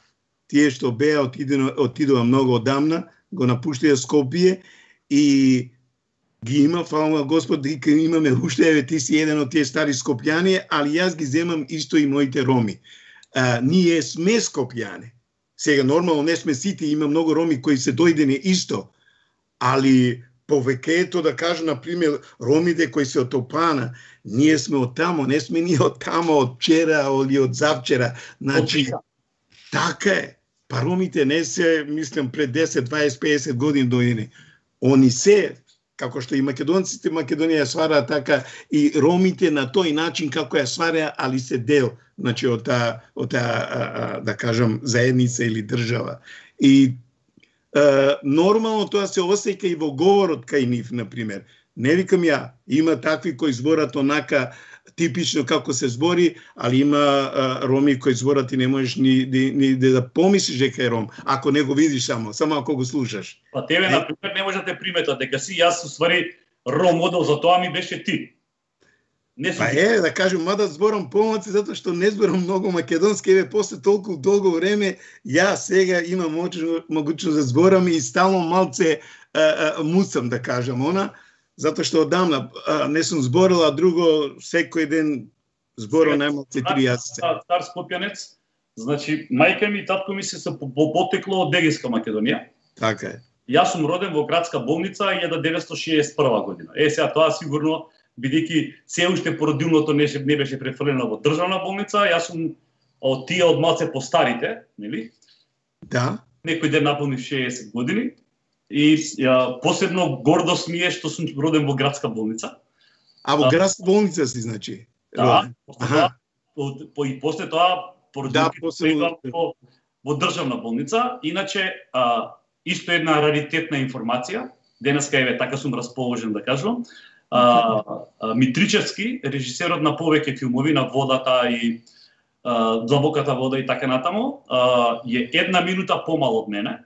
Тие што беа отидува многу одамна, го напуштија Скопје и ги има, фала Господ, дека имаме уште, еве ти си еден од тие стари скопјани, али јас ги земам исто и моите роми. А, ние сме скопјани. Сега, нормално не сме сите, има многу роми кои се дојдени исто, али повеќето, да кажа, например, ромите кои се од Топана, ние сме од тамо, не сме ние од тамо, од вчера или од завчера. Значи, така е. Па ромите не се, мислам, пред десет, дваесет, педесет години дојдени. Они се, како што и македонците Македонија свара така, и ромите на тој начин како ја свара, али се дел, значи, од таа, од таа, да кажам, заедница или држава. И а, нормално тоа се осеќа и во говорот кај нив, например. Не викам ја, има такви кои зборат онака типично како се збори, али има а, роми кои зборат и не можеш ни, ни, ни да помислиш дека е ром, ако не го видиш само, само ако го слушаш. Па тебе, например, не може да те приметат дека си, јас уствари ром модел, за тоа ми беше ти. Не па е, да кажем, мада зборам помалци, затоа што не зборам многу македонски, еве, после толку долго време, ја сега имам могучност да зборам и стално малце а, а, муцам, да кажам, она, затоа што одамна а, не сум зборил, а друго секој ден зборам најмалце три јазици. Стар скопјанец, значи мајка ми и татко ми се се потекло од Дегеска Македонија. Така е. Јас сум роден во градска болница илјада деветстотини шеесет и прва година. Е, сега тоа сигурно, бидејќи се уште породилното не, не беше префрлено во државна болница, јас сум од тие од малце постарите, нели? Да. Некој ден наполнив шеесет години. И ја, посебно гордост ми е што сум роден во градска болница. А во градска болница си, значи? Да, после тоа, по, и после тоа породилки да, после... во, во државна болница. Иначе, а, исто една раритетна информација, денеска еве така сум расположен да кажам, а, а, Митричевски, режисерот на повеќе филмови на Водата и а, Длабоката вода и така натаму, а, е една минута помал од мене.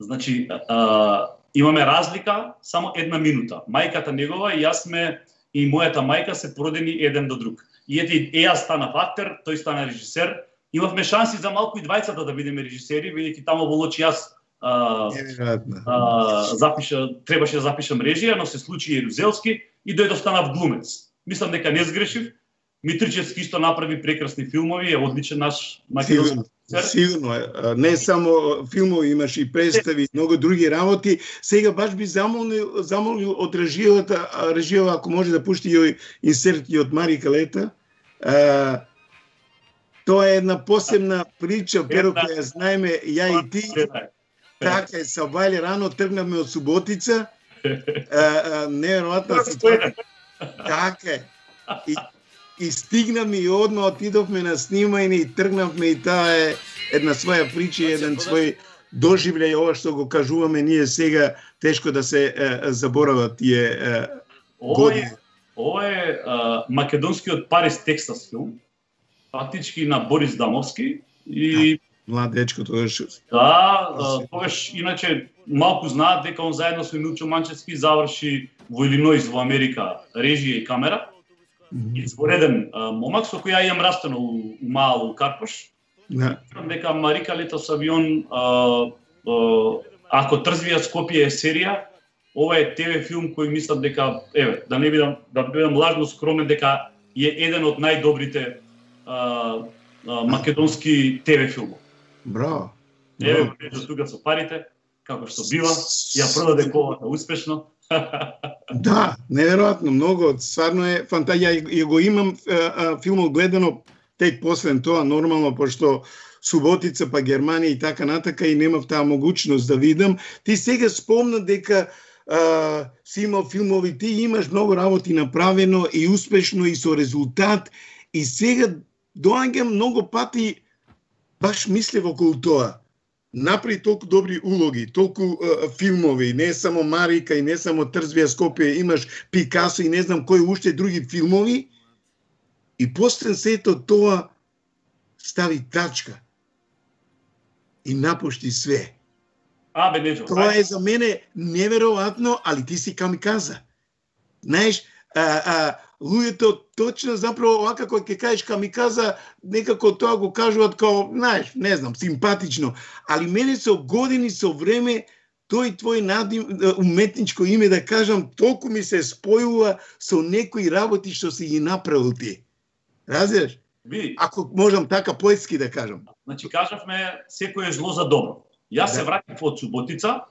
Значи, а, имаме разлика само една минута. Мајката негова и јас сме, и мојата мајка се породени еден до друг. И ете, е, јас станав актер, тој стана режисер. Имавме шанси за малку и двајцата да бидеме режисери, бидејќи тамо во Лочи јас а, а, запиша, требаше да запишам режија, но се случи Ерузелски и дојдов станав глумец. Мислам дека не сгрешив. Митричевски исто направи прекрасни филмови, е одличен наш македонски режисер. Сигурно е. Не само филмови, имаш и представи, многу други работи. Сега баш би замолил, замолил од режијата, режијава ако може да пушти и инсерти од Марика Лета. А, тоа е една посебна прича, перо која знаеме ја и ти. Така е, са вајле рано тргнавме од Суботица. Неверојатна ситуација. Така е. И И стигнавме и одма отидовме на снимање и тргнавме, и таа е една своја прича, еден свој доживљај, ова што го кажуваме ние сега, тешко да се е, заборават тие е, години. Ова е а, македонскиот Парис Текстас филм, фактички на Борис Дамовски и млад дечко тогаш. Да, тогаш иначе малку знаат дека он заедно со Милчо Манчевски заврши во Илиноис во Америка режија и камера. Извореден момак со кој ја имам растено у, у мало Карпош. Да. Дека Марика Лето Савион, а, а, ако трзвија Скопје е серија, ова е ТВ филм кој мислам дека, еве, да не бидам, да бидам лажно скромен, дека е еден од најдобрите а, а, македонски ТВ филмови. Браво. Еве го Нежо тука со парите, како што бива, ја продаде колата успешно. Да, неверојатно, многу, стварно е фантазија. Ја го имам а, филмот гледано тек после тоа, нормално, пошто Суботица па Германија и така натака и немав таа могуćност да видам. Ти сега спомна дека а, си имал филмови, ти имаш многу работи направено и успешно и со резултат и сега доаѓам многу пати баш мислев околу тоа. Направи толку добри улоги, толку а, филмови, не само Марика и не само Трзвија Скопје, имаш Пикасо и не знам кои уште други филмови. И после сето тоа стави тачка и напушти све. А, бе, Нежо, Тоа е за мене неверојатно, али ти си камиказа. Знаеш, а, а, луѓето точно заправо овака кога ќе кажеш камиказа, некако тоа го кажуваат као, знаеш, не знам, симпатично, али мене со години, со време, тој твој надим, уметничко име, да кажам, толку ми се спојува со некои работи што си ги направил ти. Разбираш? Види. Ако можам така поетски да кажам. Значи, кажавме, секој е зло за добро. Јас Да. се вратив од Суботица,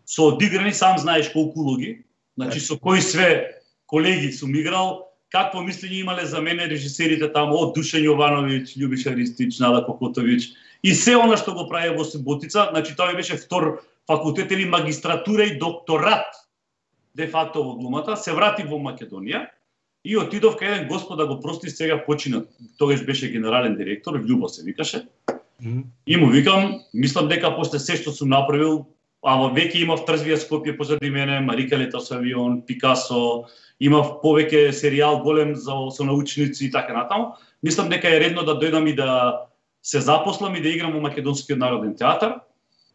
со одиграни, сам знаеш колку улоги, значи со кои све колеги сум играл, какво мислење имале за мене режисерите таму, од Душан Јовановиќ, Љубиша Ристич, Нада Кокотовиќ, и се она што го прави во Суботица, значи тоа ми беше втор факултет или магистратура и докторат, де факто во глумата, се вратив во Македонија, и отидов кај еден господ, да го прости, сега почина, тогаш беше генерален директор, Љубо се викаше. Mm-hmm. И му викам, мислам дека после се што сум направил, ама веќе имав Трзвија Скопје позади мене, Марика лета со авион, Пикасо, имав повеќе серијал голем за со научници и така натаму. Мислам дека е редно да дојдам и да се запослам и да играм во Македонскиот народен театар.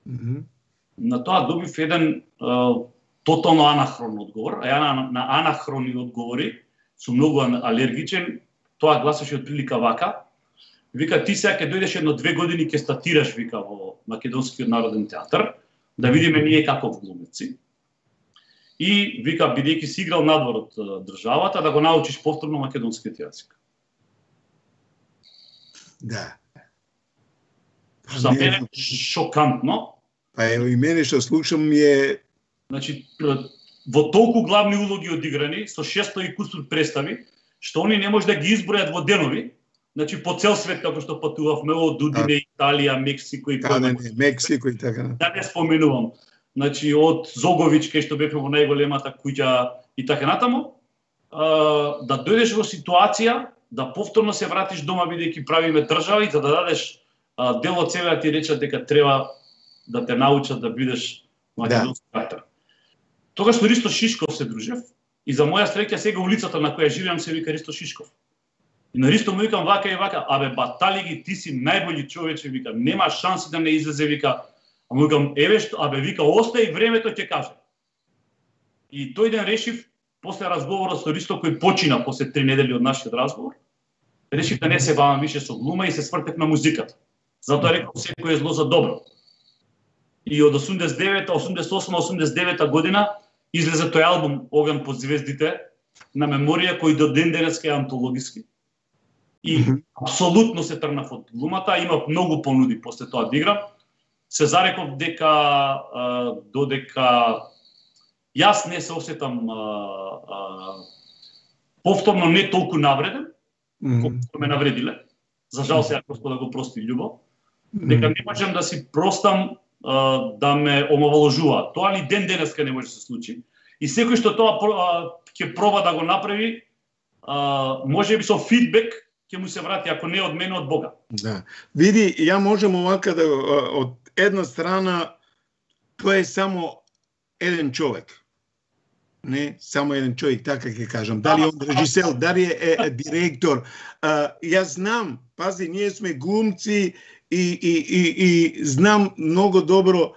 Mm-hmm. На тоа добив еден uh, тотално анахрон одговор, а ја на, на анахрони одговори сум многу алергичен. Тоа гласеше од прилика вака. Вика, ти сега ќе дојдеш едно две години ќе статираш, вика, во Македонскиот народен театар, да видиме ние каков глумеци. И вика, бидејќи си играл надвор од државата, да го научиш повторно македонскиот јазик. Да. За мене шокантно. Па ево и мене што слушам е... Значи, во толку главни улоги одиграни, со шесто и кусур представи, што они не може да ги избројат во денови, значи по цел свет, како што патувавме од Дудине, Италија, Мексико и Да, не, не, Мексико и така. Да не споменувам. Значи од Зоговиќ, кај што бевме во најголемата куќа и така натаму, а, да дојдеш во ситуација да повторно се вратиш дома бидејќи правиме држава и за да дадеш а, дел од себе да ти речат дека треба да те научат да бидеш македонски актер. Тогаш со Ристо Шишков се дружев и за моја среќа сега улицата на која живеам се вика Ристо Шишков. И на Ристо му викам вака и вака, абе батали ги, ти си најбољи човече, вика, нема шанси да не излезе, вика. А му викам, еве што, абе вика, остај времето ќе каже. И тој ден решив, после разговорот со Ристо кој почина после три недели од нашиот разговор, решив да не се бавам више со глума и се свртев на музиката. Затоа реков секој е зло за добро. И од осумдесет и девета, осумдесет и осма, осумдесет и девета година излезе тој албум Оган под звездите на меморија кој до ден денеска е антологиски. И mm-hmm. апсолутно се тргнав од глумата, имав многу понуди после тоа да играм. Се зареков дека а, додека јас не се осетам а, а, повторно не толку навреден, mm-hmm. колку ме навредиле. За жал сега Господа го прости Љубо. Дека не можам да си простам а, да ме омаловажуваат. Тоа ни ден денеска не може да се случи. И секој што тоа ќе проба да го направи, а, може би со фидбек ќе му се врати, ако не од мене, од Бога. Да. Види, ја можам овака да, од една страна, тоа е само еден човек. Не, само еден човек, така ќе кажам. Дали он режисер, дали е, е директор. А, јас знам, пази, ние сме глумци и, и, и, и знам многу добро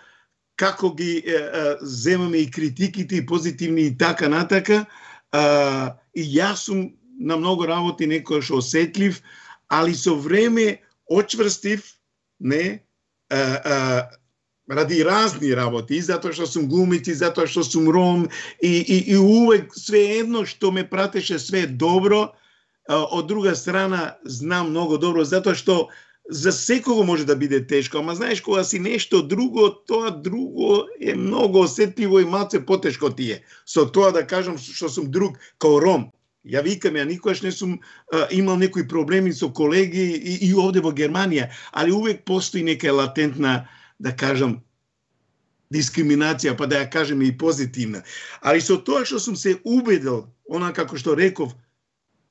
како ги е, е, земаме и критиките, и позитивни и така натака. А, и јас сум на многу работи некојаш осетлив, али со време очврстив, не, а, а, ради разни работи, и затоа што сум глумец, и затоа што сум ром, и, и, и увек све едно што ме пратеше све добро, а, од друга страна знам многу добро, затоа што за секого може да биде тешко, ама знаеш кога си нешто друго, тоа друго е многу осетливо и малце потешко ти е. Со тоа да кажам што сум друг као Ром. Ја викам, ја никогаш не сум а, имал некои проблеми со колеги и, и овде во Германија, али увек постои нека латентна, да кажам, дискриминација, па да ја кажем и позитивна. Али со тоа што сум се убедил, она како што реков,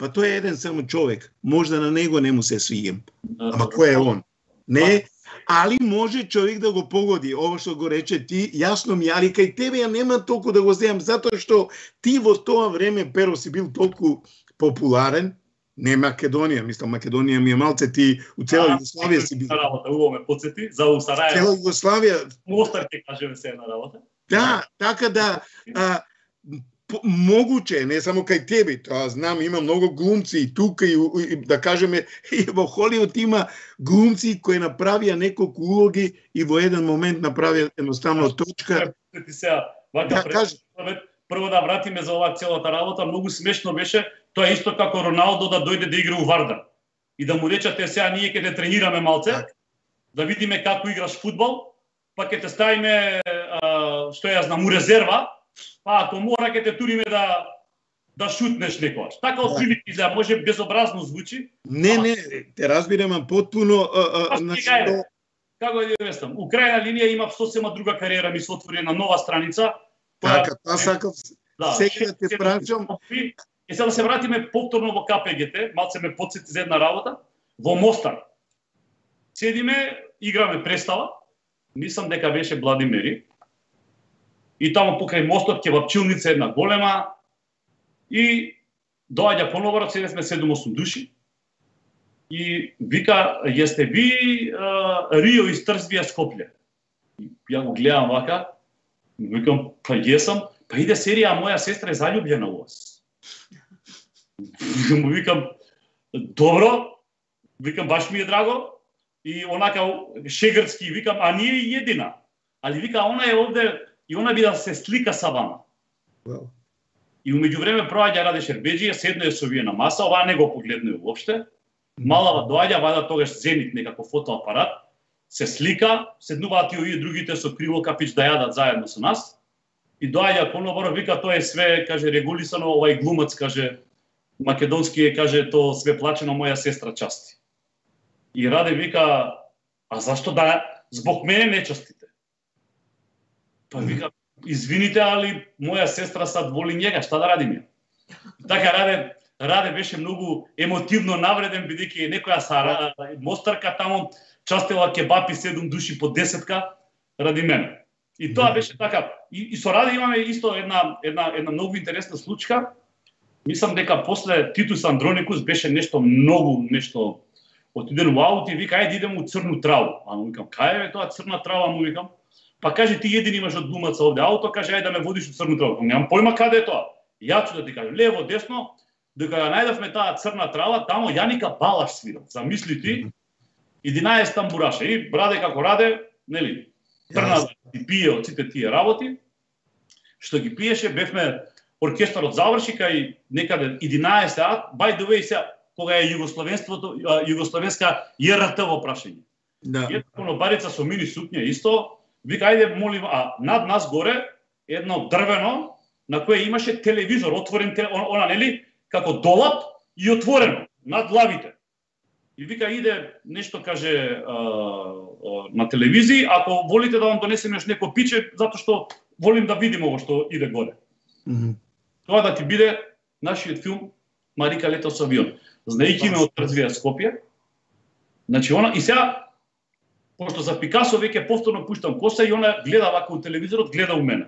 па тој е еден само човек, можда на него не му се свиѓам. Ама кој е он? Не, али може човек да го погоди, ова што го рече ти, јасно ми, али кај тебе ја нема толку да го земам, затоа што ти во тоа време, Перо, си бил толку популарен, не Македонија, мислам, Македонија ми е малце, ти у цела Југославија си бил. Работа, уво ме подсети, за у Сарајево. Цела Југославија. Мостар ќе кажеме се една работа. Да, така да, а, могуче, не само кај тебе, тоа знам, има многу глумци и тука, и, и да кажеме, и во Холивуд има глумци кои направија неколку улоги и во еден момент направија едноставно точка. Ти сега, вака да, кажи. Прво да вратиме за оваа целата работа, многу смешно беше, тоа исто како Роналдо да дојде да игра у Вардар. И да му речате сега ние ќе те тренираме малце, так. Да видиме како играш фудбал, па ќе те ставиме, а, што ја знам, у резерва, па ако мора ќе те туриме да да шутнеш некојаш. Така од прилики изгледа, може безобразно звучи. Не, не, те разбирам потпуно. Што... Како да ја вестам, у крајна линија има сосема друга кариера, ми се отвори на нова страница. Така, тоа сакав сега да те прашам. И сега да се вратиме повторно во Ка Пе Ге Те, малце ме потсети за една работа. Во Мостар. Седиме, играме представа. Мислам дека беше Владимири. И таму покрај мостот кебапчилница една голема. И доаѓа поновро, седесме седум-осум души. И вика, јесте ви а, Рио из Трзбија Скопле? И ја го гледам вака. Викам, па јесам, па иде серија, моја сестра е заљубljena у вас. Му викам, добро, викам, баш ми е драго. И онака шегртски, викам, а ние и едина. Али вика, она е овде и она би да се слика са вама. Wow. И умеѓу време проаѓа Раде Шербеџија, седно е со вие на маса, оваа не го погледнува воопште. Малава доаѓа, вада тогаш Зенит некако фотоапарат, се слика, седнуваат и овие другите со криво капич да јадат заедно со нас. И доаѓа поновро, вика, тоа е све, каже, регулисано, овај глумац, каже, македонски е, каже, тоа све плачено, моја сестра части. И Раде вика, а зашто да, због мене не частите? Па вика, извините, али моја сестра сад воли njega, шта да радиме? Така Раде, Раде беше многу емотивно навреден, бидејќи некоја сара, мостарка таму частела кебапи седум души по десетка ради мене. И тоа беше така. И, и со Раде имаме исто една една една многу интересна случка. Мислам дека после Титус Андроникус беше нешто многу нешто отиден во аут и вика ајде идеме у Црну траву. А му викам кај е тоа Црна трава, му викам. Па каже ти един имаш од глумаца овде ауто, каже ајде да ме водиш у Црну траву. Немам појма каде е тоа. Ја ќе да ти кажам лево, десно, дека ја најдовме таа Црна трава, таму Јаника Балаш свирал. Замисли ти единаесет тамбураше и Раде како Раде, нели, трна да пие од сите тие работи. Што ги пиеше, бевме оркестарот заврши кај некаде единаесет сат, by the way, сега кога е југословенството, југословенска Ја Р Т во прашање. Да. Една конобарица со мини сукња исто, вика ајде молим, а над нас горе едно дрвено на кое имаше телевизор отворен, она нели, како долап и отворено над лавите. И вика иде нешто каже а, а, на телевизија, ако волите да вам донесеме еш неко пиче, затоа што волим да видиме ово што иде горе. Mm -hmm. Тоа да ти биде нашиот филм Марика лето со авион. Знаејќи ме од Трзбија Скопје. Значи она и сега пошто за Пикасо веќе повторно пуштам коса и она гледа вака у телевизорот, гледа у мене.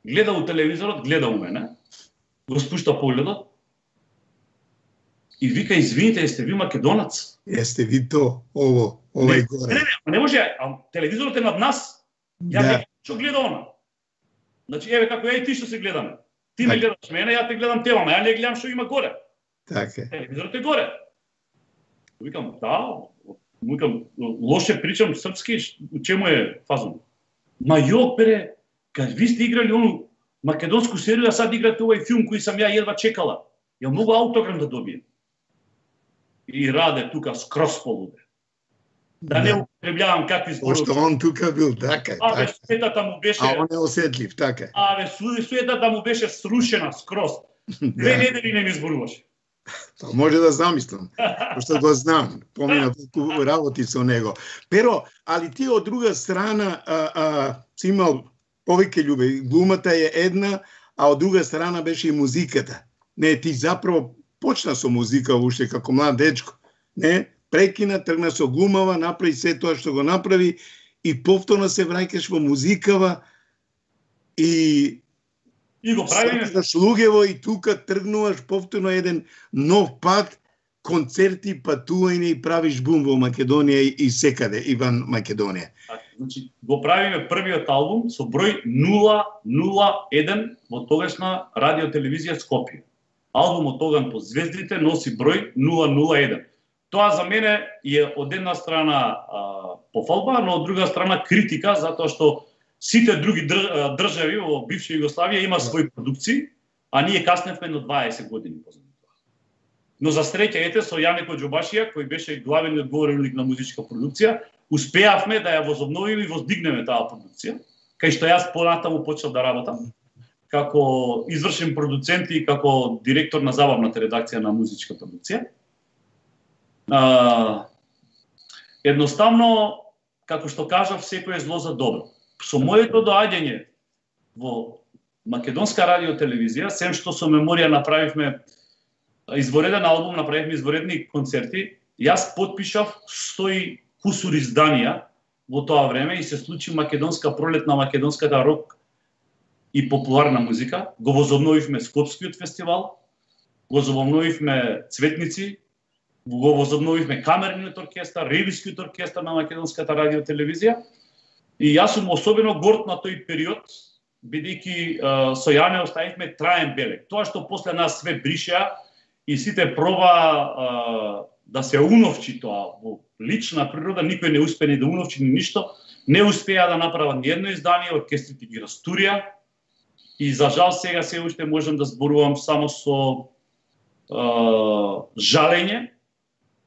Гледа у телевизорот, гледа у мене. Го спушта погледот. И вика, извините, јесте ви македонац? Јесте ви то, ово, овај горе. Не, не, не може, а телевизорот е над нас. Ја да. Не што гледа она. Значи, еве како ја и ти што се гледаме. Ти ме гледаш мене, ја те гледам тебе, ама ја не гледам што има горе. Така е. Телевизорот е горе. Викам, да, викам, лоше причам српски, у чему е фазон? Ма јо, пере, кад ви сте играли ону македонску серија, сад играте овај филм кој сам ја едва чекала. Ја могу аутограм да добијам. И Раде тука скроз полуде. Да не употребljавам какви зборови. Пошто он тука бил, така. Абе, суетата му беше... А он е осетлив, така. Абе, суетата му беше срушена скроз. Две недели не ми зборуваше. Па може да замислам, пошто го знам, помина толку работи со него. Pero, али ти од друга страна а, а, си имал повеќе љубе. Глумата е една, а од друга страна беше и музиката. Не, ти заправо почна со музика уште како млад дечко. Не, прекина, тргна со глумава, направи се тоа што го направи и повторно се враќаш во музикава и И го правиме. Сакаш луѓево и тука тргнуваш повторно еден нов пат, концерти, патување и правиш бум во Македонија и, и секаде, и ван Македонија. Значи, го правиме првиот албум со број нула нула еден во тогашна радиотелевизија Скопје. Албумот Оган по звездите носи број нула нула еден. Тоа за мене е од една страна а, пофалба, но од друга страна критика, затоа што сите други држави во бивша Југославија има своји продукции, а ние касневме на дваесет години позади тоа. Но за среќа, ете, со Јане Коџобашија, кој беше главен одговорник на музичка продукција, успеавме да ја возобновиме и воздигнеме таа продукција, кај што јас понатаму почнав да работам како извршен продуцент и како директор на забавната редакција на музичка продукција. А, едноставно, како што кажав, секој е зло за добро. Со моето доаѓање во македонска радиотелевизија, сем што со меморија направивме извореден албум, направивме изворедни концерти, јас подпишав сто и кусур изданија во тоа време и се случи македонска пролет на македонската рок и популарна музика. Го возобновивме Скопскиот фестивал, го возобновивме Цветници, го возобновивме Камерниот оркестар, Ревискиот оркестар на македонската радиотелевизија. И јас сум особено горд на тој период, бидејќи со Јане оставивме траен белег. Тоа што после нас све бриша и сите проба а, да се уновчи тоа во лична природа, никој не успе ни да уновчи ни ништо, не успеа да направат ни едно издание, оркестрите ги растурија и за жал сега се уште можам да зборувам само со а, жалење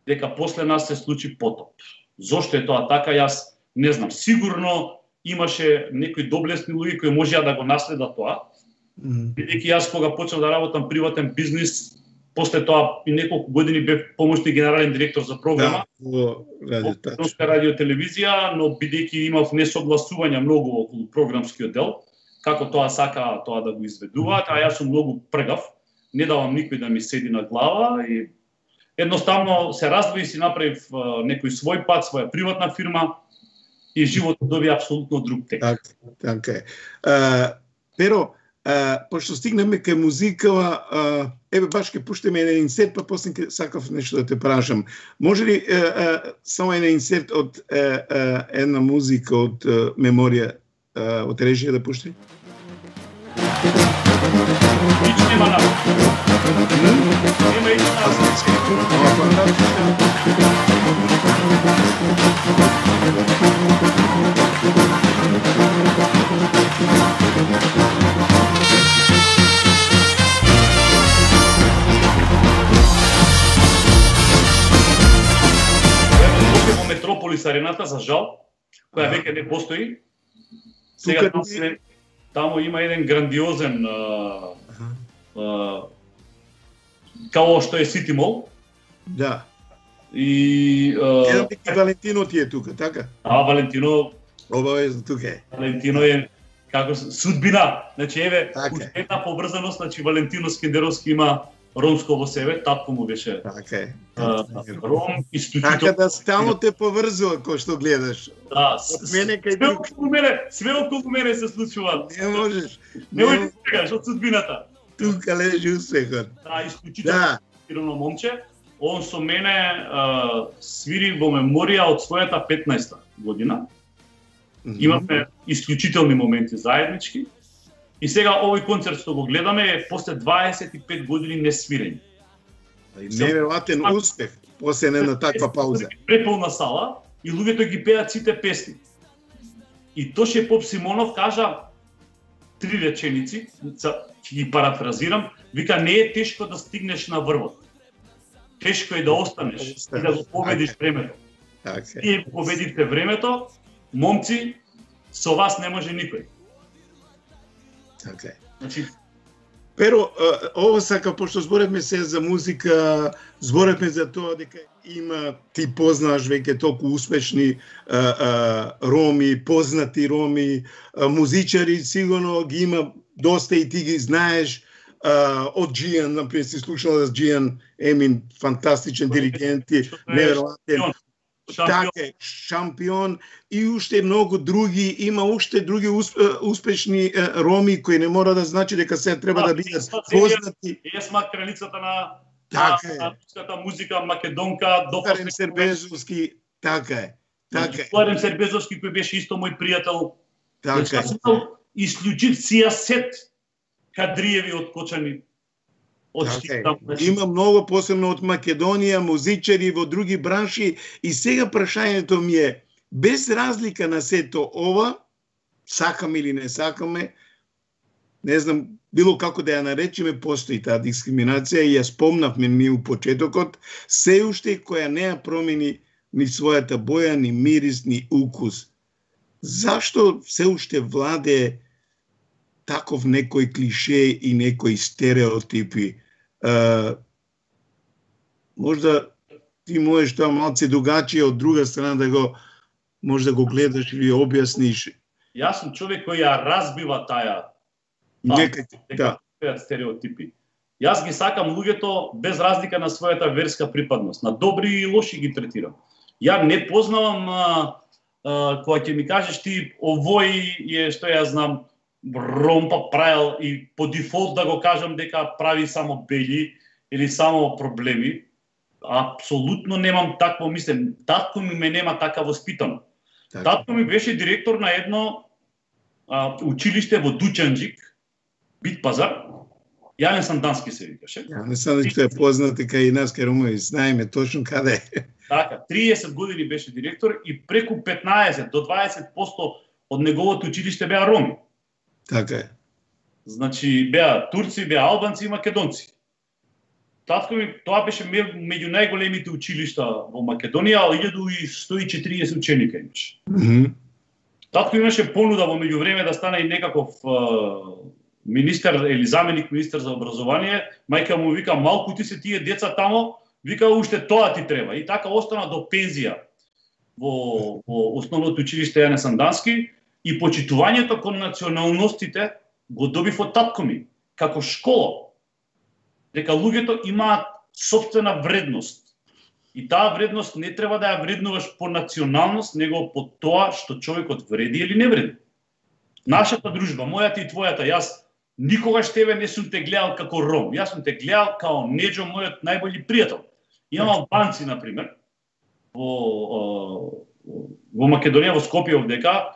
дека после нас се случи потоп. Зошто е тоа така, јас не знам, сигурно имаше некои доблесни луѓе кои можеа да го наследат тоа. Бидејќи јас кога почнав да работам приватен бизнис, после тоа и неколку години бев помошни генерален директор за програма во Македонска радиотелевизија, но бидејќи имав несогласувања многу околу програмскиот дел, како тоа сака тоа да го изведуваат, а јас сум многу пргав, не давам никој да ми седи на глава и едноставно се раздвои, си направив некој свој пат, своја приватна фирма, и животот доби апсолутно друг тек. Така, така е. Uh, Pero, uh, пошто стигнеме кај музикава, uh, еве баш ке пуштиме еден инсерт, па после ке сакав нешто да те прашам. Може ли uh, uh, само еден инсерт од uh, uh, една музика од uh, меморија, uh, од режија да пушти? Ич нема на. Нема ич во Метрополис арената, за жал, која веќе не постои. Сега таму, таму има еден грандиозен а, а, као што е Сити Мол. Да. И Еден пик Валентино ти е тука, така? А, Валентино, Обавезно тука е. Валентино е како судбина. Значи еве, Така. една поврзаност, значи Валентино Скендеровски има ромско во себе, татко му беше Така е. а, ром, Така исклучително. да стално те поврзува кој што гледаш. Да, Од мене кај све друг. околу мене, све околу мене се случува. Не можеш. Не можеш да кажеш од судбината. Тука лежи успехот. Да, исклучително Да. талентирано момче. Он со мене а, свири во меморија од својата петнаесета година. Имавме исклучителни моменти заеднички. И сега овој концерт што го гледаме е после дваесет и пет години несвирење. Неверојатен успех после една таква пауза. Преполна сала и луѓето ги пеат сите песни. И Тоше Поп Симонов кажа три реченици, ќе ги парафразирам, вика не е тешко да стигнеш на врвот. Тешко е да останеш и да го победиш времето. Така. Вие победивте времето, момци, со вас не може никој. Така. Значи, Pero, ова сака, пошто зборевме се за музика, зборевме за тоа дека има, ти познаш веќе толку успешни а, а, роми, познати роми, а, музичари, сигурно ги има доста и ти ги знаеш. А, од Джијан, например, си слушала за Джијан Емин, фантастичен диригент и неверојатен. Така е, шампион и уште многу други, има уште други успешни роми кои не мора да значи дека се треба да бидат познати. Есма кралицата на така на музика македонка, Дофарем Сербезовски, така е. Така е. Дофарем Сербезовски кој беше исто мој пријател. Така е. Исклучив сијасет кадриеви од Кочани. Така е. Има многу, посебно од Македонија, музичари во други бранши и сега прашањето ми е, без разлика на сето ова, сакаме или не сакаме, не знам, било како да ја наречеме, постои таа дискриминација и ја спомнавме ми у почетокот, се уште која не ја промени ни својата боја, ни мирис, ни укус. Зашто се уште владе таков некој клише и некои стереотипи? Uh, можда ти можеш тоа малце другачие од друга страна да го може да го гледаш или објасниш. Јас сум човек кој ја разбива таа Нека да стереотипи. Јас ги сакам луѓето без разлика на својата верска припадност, на добри и лоши ги третирам. Ја не познавам а, а, кога ќе ми кажеш ти овој е што ја знам ромпа правил и по дефолт да го кажам дека прави само бели или само проблеми. Апсолутно немам такво мислење. Татко ми ме нема така воспитано. Так. Татко ми беше директор на едно а, училиште во Дучанџик, Бит пазар. Јанен Сандански се викаше. Јанен Сандански е познат кај и нас кај Румови, знаеме точно каде е. Така, триесет години беше директор и преку петнаесет до дваесет проценти од неговото училиште беа роми. Така е. Значи, беа турци, беа албанци и македонци. Татко ми, тоа беше меѓу најголемите училишта во Македонија, илјаду и сто и четириесет ученика имаше. Mm -hmm. Татко имаше понуда во меѓувреме да стане и некаков uh, министер или заменик министер за образование. Мајка му вика, малку ти се тие деца тамо, вика уште тоа ти треба. И така остана до пензија во, во основното училиште Јанен Сандански. И почитувањето кон националностите го добив од татко ми, како школа. Дека луѓето имаат сопствена вредност. И таа вредност не треба да ја вреднуваш по националност, него по тоа што човекот вреди или не вреди. Нашата дружба, мојата и твојата, јас никогаш тебе не сум те гледал како ром. Јас сум те гледал као Неџо, мојот најбољи пријател. Имам албанци, например, во, во Македонија, во Скопје овдека,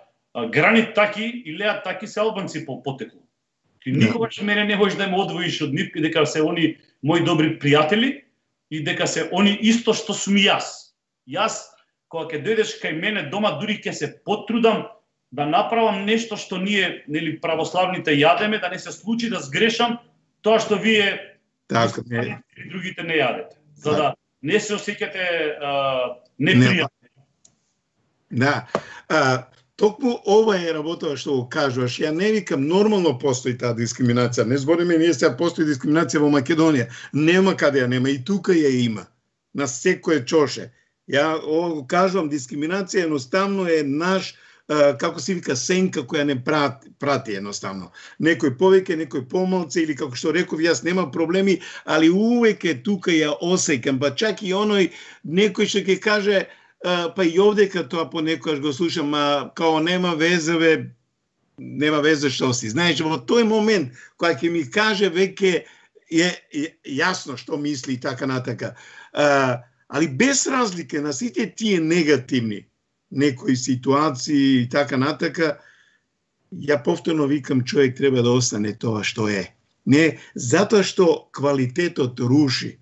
гранит таки и леат таки се албанци по потекло. Ти никогаш мене не можеш да ме одвоиш од нив, дека се они мои добри пријатели и дека се они исто што сум јас. Јас, кога ќе дојдеш кај мене дома, дури ќе се потрудам да направам нешто што ние, нели, православните јадеме, да не се случи да сгрешам тоа што вие така и другите не јадете. За да не се осеќате непријатно. Да. А, токму ова е работа што го кажуваш. Ја не викам, нормално постои таа дискриминација. Не збориме ние сега постои дискриминација во Македонија. Нема каде ја нема, и тука ја има. На секое чоше. Ја го кажувам, дискриминација едноставно е наш, како се вика, сенка која не прати, прати едноставно. Некој повеќе, некој помалце, или како што реков, јас нема проблеми, али увеќе тука ја осеќам, па чак и оној некој што ќе каже, па и овдека тоа понекогаш го слушам, а као нема везе, бе, нема везе што си. Знаеш, во тој момент, која ќе ми каже, веќе е, е јасно што мисли и така натака. А, али без разлика на сите тие негативни некои ситуации и така натака, ја повторно викам, човек треба да остане тоа што е. Не, затоа што квалитетот руши.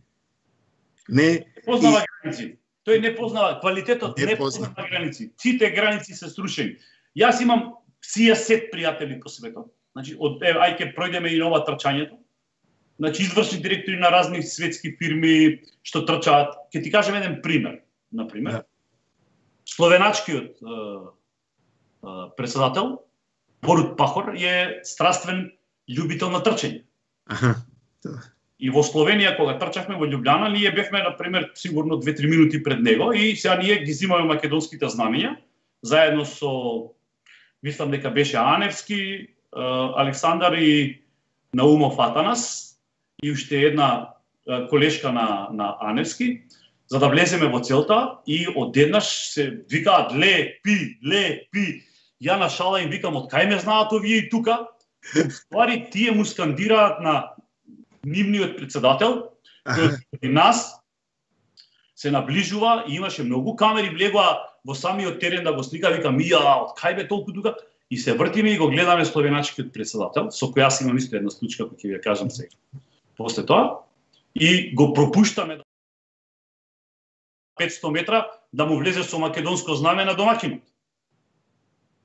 Не познава граници. Тој не познава квалитетот, не, не познава граници. Сите граници се срушени. Јас имам сијасет пријатели по светот. Значи, од е, ај ќе пројдеме и нова трчањето. Значи, извршни директори на разни светски фирми што трчаат. Ќе ти кажем еден пример, на пример. Да. словеначкиот председател Борут Пахор е страствен љубител на трчање. Аха. И во Словенија кога трчавме во Љубљана, ние бевме на пример сигурно две-три минути пред него и сега ние ги зимаме македонските знамења заедно со, мислам дека беше Аневски, Александар и Наумов Атанас и уште една колешка на на Аневски, за да влеземе во целта и одеднаш се викаат ле пи, ле пи. Ја на шала им викам од кај ме знаат овие и тука. Ствари тие му скандираат на нивниот председател, кој и нас се наближува и имаше многу камери, влегоа во самиот терен да го слика, вика мија, од кај бе толку тука? И се вртиме и го гледаме словеначкиот председател, со кој јас имам исто една случка, кој ќе ви ја кажам сега. После тоа, и го пропуштаме петстотини метра да му влезе со македонско знаме на домакинот.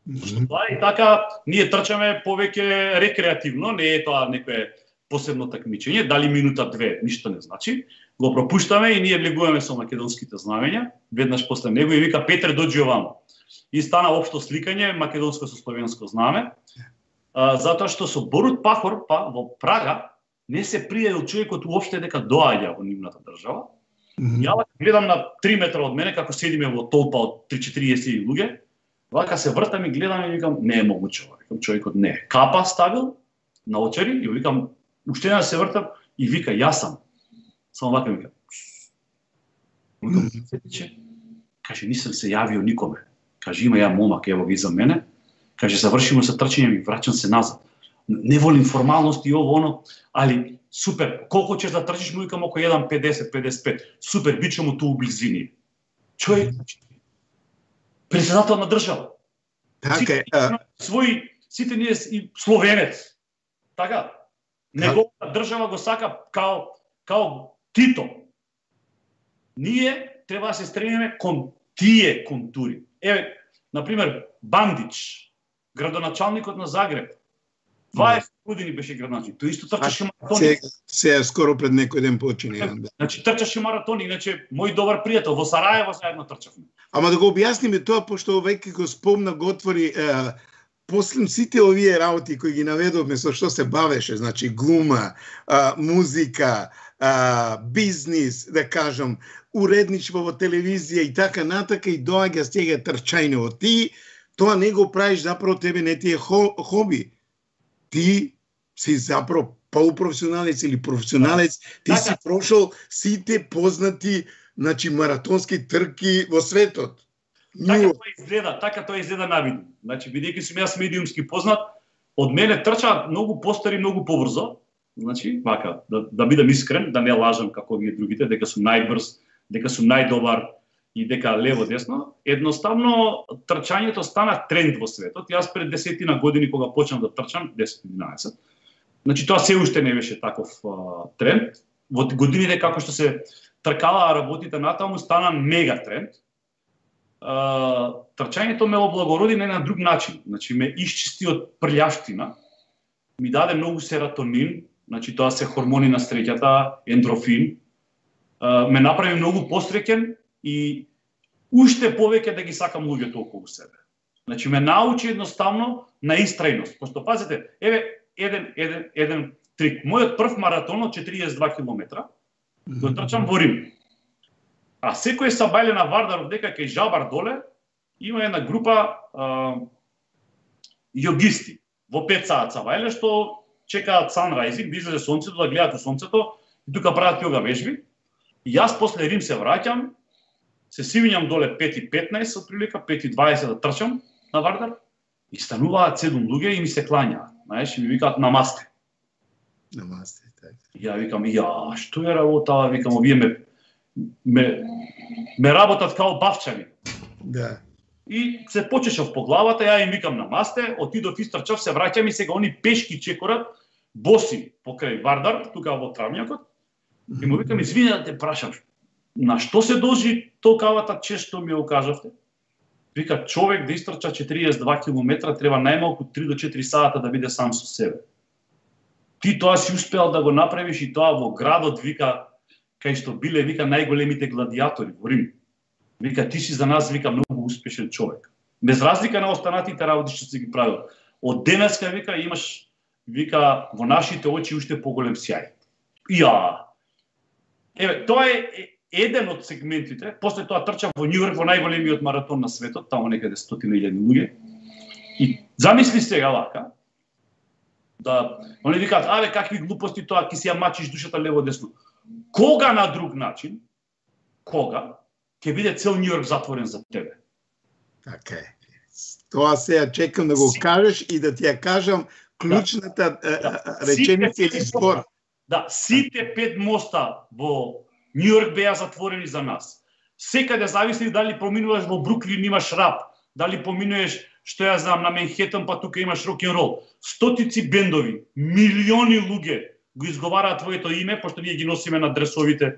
Mm-hmm. Тоа и така, ние трчаме повеќе рекреативно, не е тоа некое посебно такмичење, дали минута две, ништо не значи. Го пропуштаме и ние влегуваме со македонските знамења, веднаш после него и вика Петре дојди овамо. И стана општо сликање македонско со словенско знаме, а, затоа што со Борут Пахор па во Прага не се пријавил човекот уопште дека доаѓа во нивната држава. Mm-hmm. Ја гледам на три метра од мене како седиме во толпа од три-четириесет луѓе. Вака се вртам и гледам и викам не е могуче ова. Викам човекот не е. Капа ставил на очари и викам уште една се вртам и вика јас сам. Само вака ми вика. Викам че каже нисам се јавио никоме. Каже има ја момак ево ги за мене. Каже завршимо се трчање и враќам се назад. Не волим формалности и ово оно, али супер. Колку ќе да трчиш му викам око еден педесет педесет пет. Супер бичемо ту у близини. Човек председател на држава. Така е. Свој сите ние и словенец. Така. Неговата држава го сака као као Тито. Ние треба да се стремиме кон тие контури. Еве, на пример, Бандич, градоначалникот на Загреб. дваесет години беше градоначалник. Тој исто трчаше маратони. Се, се скоро пред некој ден почини. Значи трчаше маратони, иначе мој добар пријател во Сараево заедно трчавме. Ама да го објасниме тоа, пошто веќе го спомна го отвори е, после сите овие работи кои ги наведовме со што се бавеше, значи глума, а, музика, а, бизнис, да кажам, уредничество во телевизија и така натака и доаѓа стега трчајно. Ти тоа не го правиш заправо, тебе не ти е хо, хоби. Ти си заправо полупрофесионалец или професионалец, ти така си прошол сите познати, значи маратонски трки во светот. Така тоа изгледа, така тоа изгледа навидно. Значи бидејќи сум јас медиумски познат, од мене трчаат многу постари, многу побрзо. Значи, вака, да, да бидам искрен, да не лажам како вие другите, дека сум најбрз, дека сум најдобар и дека лево десно. Едноставно трчањето стана тренд во светот. Јас пред десетина години кога почнав да трчам, десет-единаесет, значи тоа се уште не беше таков а, тренд. Во годините како што се тркалаа работите натаму стана мега тренд. Uh, трчањето ме облагороди на еден друг начин. Значи ме исчисти од прљавштина, ми даде многу серотонин, значи тоа се хормони на среќата, ендрофин, uh, ме направи многу посреќен и уште повеќе да ги сакам луѓето околу себе. Значи ме научи едноставно на истрајност. Пошто пазете, еве еден еден еден трик. Мојот прв маратон од четириесет и два километра го трчам во Рим. А секој сабајле на Вардаров дека кај Жабар доле има една група а, јогисти во пет саат сабајле што чекаат санрајзинг, да излезе сонцето, да гледаат у сонцето и тука прават јога вежби. И јас после Рим се враќам, се сивињам доле пет и петнаесет отприлика, пет и дваесет да трчам на Вардар и стануваат седум луѓе и ми се клањаат, знаеш, и ми викаат намасте. Намасте, така. Ја викам, ја, што е работа, викам, овие ме ме ме работат као бавчани. Да. И се почешав по главата, ја им викам намасте, отидов истрчав, се враќам и сега они пешки чекорат, боси покрај Вардар, тука во травњакот. И му викам, извини да те прашам, на што се должи толкавата чест што ми ја укажавте? Вика, човек да истрча четириесет и два километра треба најмалку три до четири сата да биде сам со себе. Ти тоа си успеал да го направиш и тоа во градот, вика, кај што биле, вика, најголемите гладиатори во Рим. Вика, ти си за нас, вика, многу успешен човек. Без разлика на останатите работи што си ги правил. Од денеска, вика, имаш, вика, во нашите очи уште поголем сјај. Ја! Еве, тоа е еден од сегментите. После тоа трча во Њујорк во најголемиот маратон на светот, таму некаде стотина илјади луѓе. И замисли сега вака, да, они викаат, аве, какви глупости тоа, ки си ја мачиш душата лево-десно. Кога на друг начин, кога, ќе биде цел Њујорк затворен за тебе? Така е. Тоа сега чекам да го кажеш и да ти ја кажам клучната да, да. реченица или збор. Да, сите пет моста во Њујорк беа затворени за нас. Секаде зависи дали поминуваш во Бруклин имаш рап, дали поминуваш, што ја знам, на Менхетен, па тука имаш рок-н-рол. Стотици бендови, милиони луѓе го изговараат твоето име, пошто ние ги носиме на дресовите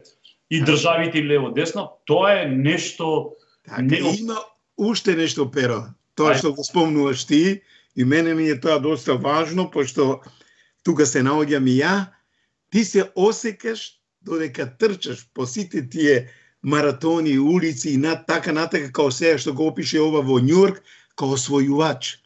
и државите лево-десно. Тоа е нешто... Така, не... има уште нешто, Pero. Тоа што го спомнуваш ти, и мене ми е тоа доста важно, пошто тука се наоѓам и ја, ти се осекаш додека трчаш по сите тие маратони, улици и над така натака као сега што го опише ова во Њујорк, као освојувач.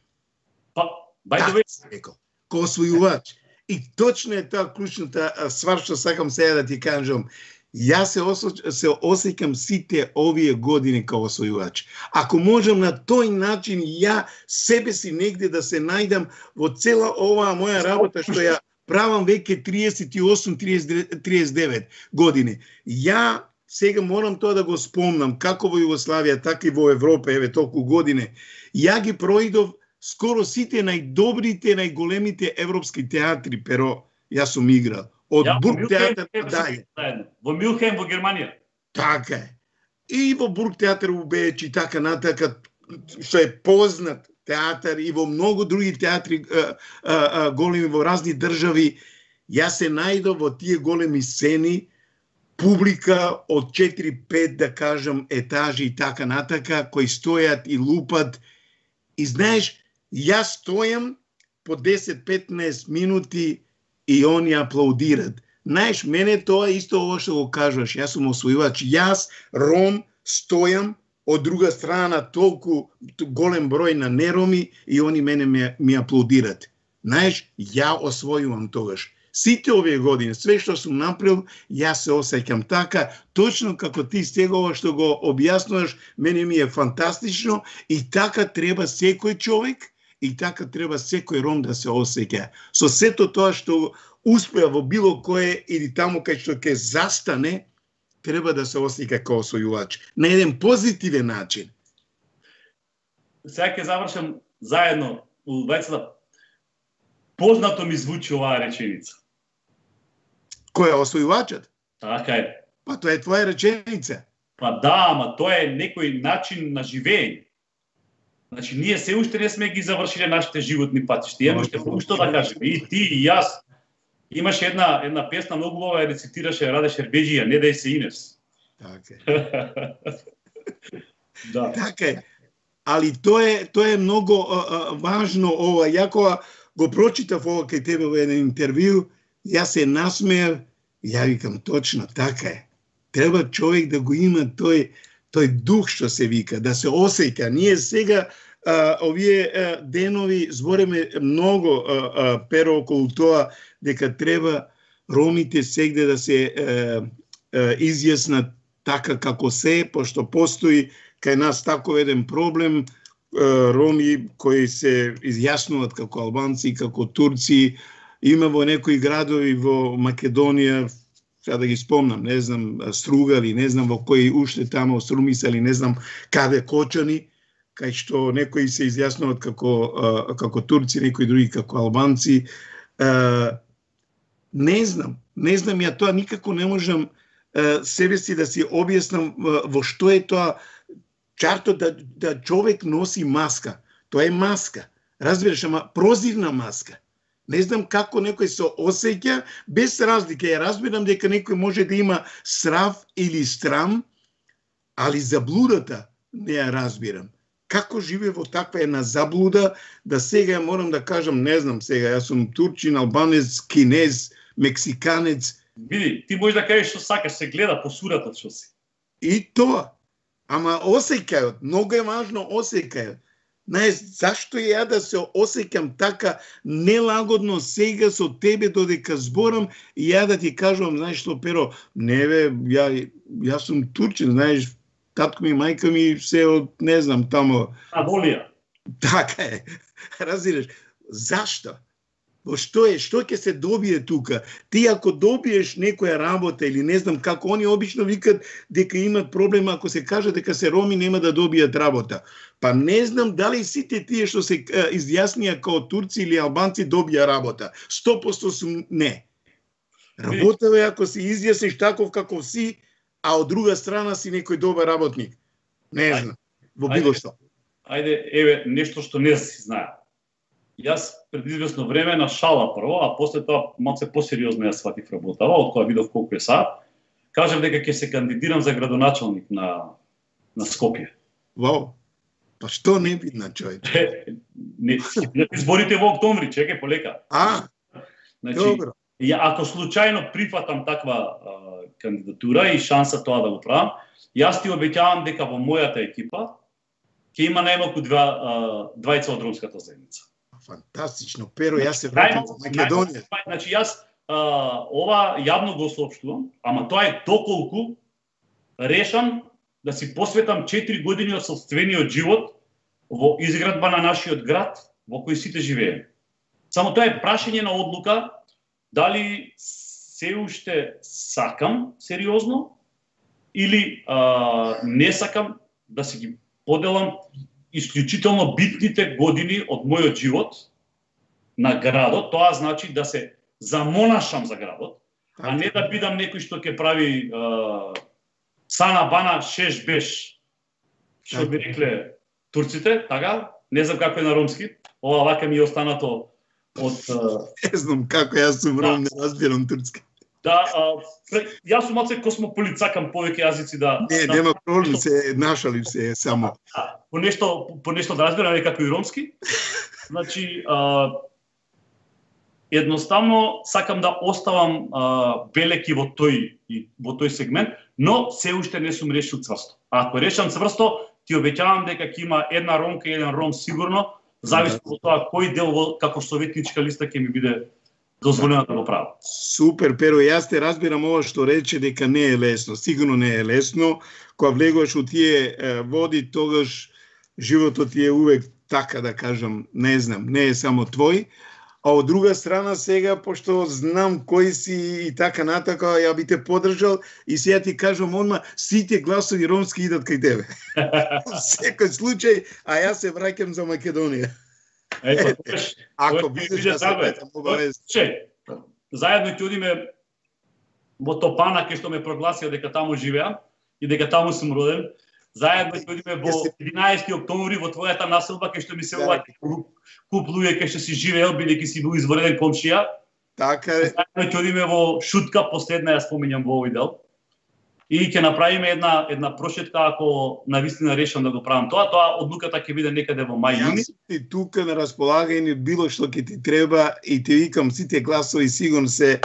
Па, by the way, као освојувач. И точно е тоа клучната ствар што сакам сега да ти кажам. Јас се, осо, се осеќам сите овие години као освојувач. Ако можам на тој начин ја себе си негде да се најдам во цела оваа моја работа што ја правам веќе триесет и осум триесет и девет години. Ја сега морам тоа да го спомнам, како во Југославија, така и во Европа, еве толку години. Ја ги проидов скоро сите најдобрите, најголемите европски театри, Pero јас сум играл. Од ja, Бургтеатер дај. Во Мюнхен, во Германија. Така е. И во Бургтеатер у Беч и така натака, што е познат театар и во многу други театри а, а, а, големи во разни држави. Јас се најдов во тие големи сцени, публика од четири-пет, да кажам, етажи и така натака, кои стојат и лупат. И знаеш, јас стојам по десет-петнаесет минути и они аплаудират. Знаеш, мене тоа исто ово што го кажуваш, јас сум освојувач. Јас, Ром, стојам од друга страна толку голем број на нероми и они мене ми, ми аплаудират. Знаеш, ја освојувам тогаш. Сите овие години, све што сум направил, јас се осеќам така, точно како ти стегова што го објаснуваш, мене ми е фантастично и така треба секој човек и така треба секој Ром да се осеќа. Со сето тоа што успеа во било кое или таму кај што ќе застане, треба да се осеќа како освојувач. На еден позитивен начин. Сега ќе завршам заедно у двајцата. Познато ми звучи оваа реченица. Кој е освојувачот? Така е. Па тоа е твоја реченица. Па да, ама тоа е некој начин на живење. Значи, ние се уште не сме ги завршиле нашите животни патишта. Имаме уште многу што да кажеме. И ти, и јас. Имаше една, една песна, многу убава ја рецитираше Раде Шербеджија, не дај се Инес. Така е. Да. Така е. Али тоа е, тоа е многу а, а, важно ова. Ја кога го прочитав ова кај тебе во еден интервју, јас се насмеав, ја викам точно, така е. Треба човек да го има тој тој дух што се вика, да се осеќа. Ние сега а, овие а, денови збореме многу а, а, Pero околу тоа дека треба ромите сегде да се а, а, изјаснат така како се, пошто постои кај нас таков еден проблем, а, роми кои се изјаснуваат како албанци, како турци. Има во некои градови во Македонија, сега да ги спомнам, не знам, Стругави, не знам во кои уште тамо Струмисали, не знам каде Кочани, кај што некои се изјаснуваат како, како турци, некои други како албанци. Не знам, не знам, ја тоа никако не можам себе си да си објаснам во што е тоа чарто да, да човек носи маска. Тоа е маска, разбираш, ама прозирна маска. Не знам како некој се осеќа, без разлика. Ја разбирам дека некој може да има срав или страм, али заблудата не ја разбирам. Како живее во таква една заблуда, да сега морам да кажам, не знам сега, јас сум турчин, албанец, кинез, мексиканец. Види, ти можеш да кажеш што сакаш, се гледа по суратот што си. И тоа. Ама осеќајот, многу е важно осеќајот. Знаеш, зашто ја да се осеќам така нелагодно сега со тебе додека зборам и ја да ти кажувам, знаеш што, Перо, не бе, ја, ја сум турчин, знаеш, татко ми, мајка ми, се од, не знам, тамо... Аволија. Така е, разбираш. Зашто? Во што е, што ќе се добие тука? Ти ако добиеш некоја работа или не знам како, они обично викат дека имат проблем ако се каже дека се роми нема да добијат работа. Па не знам дали сите тие што се изјаснија као турци или албанци добија работа. сто проценти сум не. Работа е ако се изјасниш таков каков си, а од друга страна си некој добар работник. Не знам, во било што. Ајде, еве, нешто што не си знае. Јас пред известно време на шала прво, а после тоа малце посериозно ја сватив работава, од кога видов колку е саат, кажав дека ќе се кандидирам за градоначалник на на Скопје. Вау. Па што не видна, човече? Не, изборите во октомври, чекај полека. А, значи, добро. Ја, ако случајно прифатам таква а, кандидатура и шанса тоа да го правам, јас ти обеќавам дека во мојата екипа ќе има најмалку два двајца од ромската заедница. Фантастично, Перо, јас се враќам во Македонија. Значи јас а, ова јавно го соопштувам, ама тоа е доколку решам да си посветам четири години од собствениот живот во изградба на нашиот град во кој сите живееме. Само тоа е прашање на одлука дали се уште сакам сериозно или а, не сакам да си ги поделам исклучително битните години од мојот живот на градот. Тоа значи да се замонашам за градот, а не да бидам некој што ќе прави а, сана бана шеш беш, што би рекле турците, така? Не знам како е на ромски, ова вака ми е останато од... Не знам како, јас сум ром, не разбирам турски. Да, а, јас сум малце космополит, сакам повеќе јазици да... Не, да, нема проблем, се нашалив се само. Да, по нешто, по нешто да разбирам, не како и ромски. Значи, а, едноставно сакам да оставам а, белеки во тој во тој сегмент, но се уште не сум решил цврсто. А ако решам цврсто, ти обеќавам дека ќе има една ромка и еден ром сигурно, зависи од тоа кој дел во како советничка листа ќе ми биде дозволено да го правам. Супер, Перо, јас те разбирам ова што рече дека не е лесно. Сигурно не е лесно. Кога влегуваш у тие е, води, тогаш животот ти е увек, така да кажам, не знам, не е само твој. А од друга страна сега, пошто знам кој си и така натака, ја би те подржал и сега ти кажам одма, сите гласови ромски идат кај тебе. Секој случај, а јас се враќам за Македонија. Ето, ако бидеш да се петам обавез. Заедно ќе одиме во Топана, кај што ме прогласија дека таму живеам и дека таму сум роден. Заедно ќе одиме во единаесети октомври во твојата населба, кај што ми се уваќа куп луѓе кај што си живеел, бидејќи си бил извореден комшија. Така е. Заедно ќе одиме во Шутка, последна ја споминјам во овој дел. И ќе направиме една една прошетка ако навистина решам да го правам тоа. Тоа одлуката ќе биде некаде во мај јуни. Јас ти тука на располагање било што ќе ти треба и ти викам сите гласови сигурно се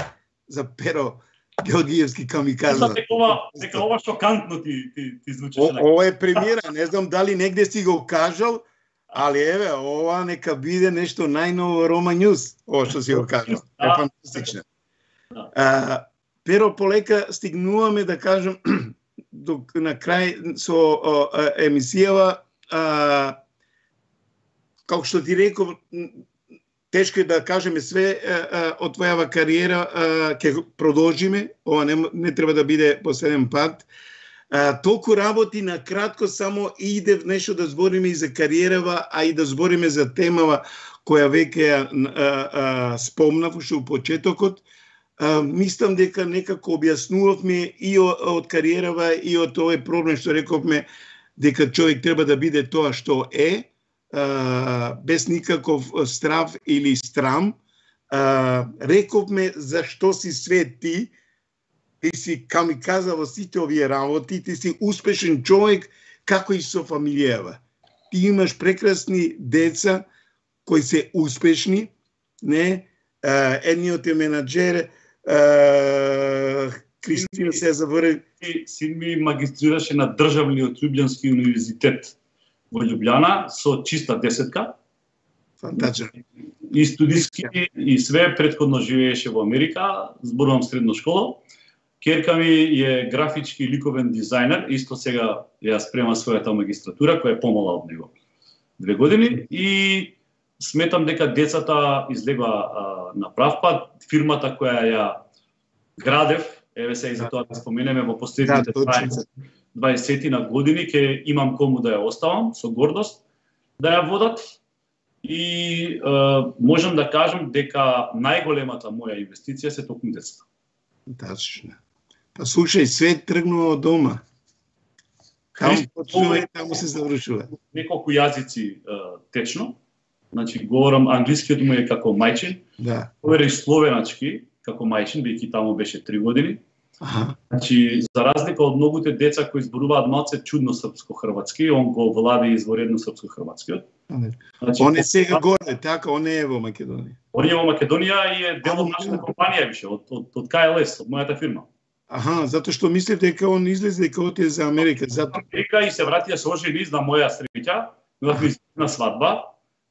за Перо Георгиевски камикадзе. Знам дека ова дека ова шокантно ти ти ти звучи. Ова е премиера, не знам дали негде си го кажал, али еве, ова нека биде нешто најново Рома Ньюс, ова што си го кажал. Е фантастично. А, Перо, полека стигнуваме да кажем до на крај со а, емисијава, а, како што ти реков, тешко е да кажеме све а, а, од твојава кариера, ќе продолжиме, ова не, не треба да биде последен пат. А, толку работи на кратко, само иде нешто да збориме и за кариерава, а и да збориме за темава која веќе ја спомнав уште у почетокот. Uh, мислам дека некако објаснувавме и од кариерава и од овој проблем што рековме дека човек треба да биде тоа што е, uh, без никаков страв или страм. Uh, рековме зашто си све ти, ти си камиказа во сите овие работи, ти си успешен човек како и со фамилијава. Ти имаш прекрасни деца кои се успешни, не? Uh, едниот е менаџер, Uh, Кристина се заврши. Син ми магистрираше на Државниот Љубљански универзитет во Љубљана со чиста десетка. Фантачен. И студиски и све, претходно живееше во Америка, зборувам средна школа. Керка ми е графички и ликовен дизајнер, исто сега ја спрема својата магистратура, која е помала од него. Две години и сметам дека децата излега а, на прав пат. Фирмата која ја градев, еве се и за тоа да споменеме во последните дваесет на години, ќе имам кому да ја оставам со гордост да ја водат. И а, можам да кажам дека најголемата моја инвестиција се токму децата. Тачно. Па слушај, свет тргнува од дома. Таму почнува и таму се завршува. Неколку јазици а, течно. Значи, говорам англискиот му е како мајчин. Да. Говори словеначки како мајчин, бидејќи таму беше три години. Аха. Значи, за разлика од многуте деца кои зборуваат малце чудно српско-хрватски, он го влади изворедно српско-хрватскиот. Значи, он е сега горе, така, он е во Македонија. Он е во Македонија и е дел од нашата компанија више, од, од, од К Л С, од мојата фирма. Аха, затоа што мислев дека он излезе дека оти за Америка, затоа. Америка и се врати се ожени на моја среќа, имавме на свадба,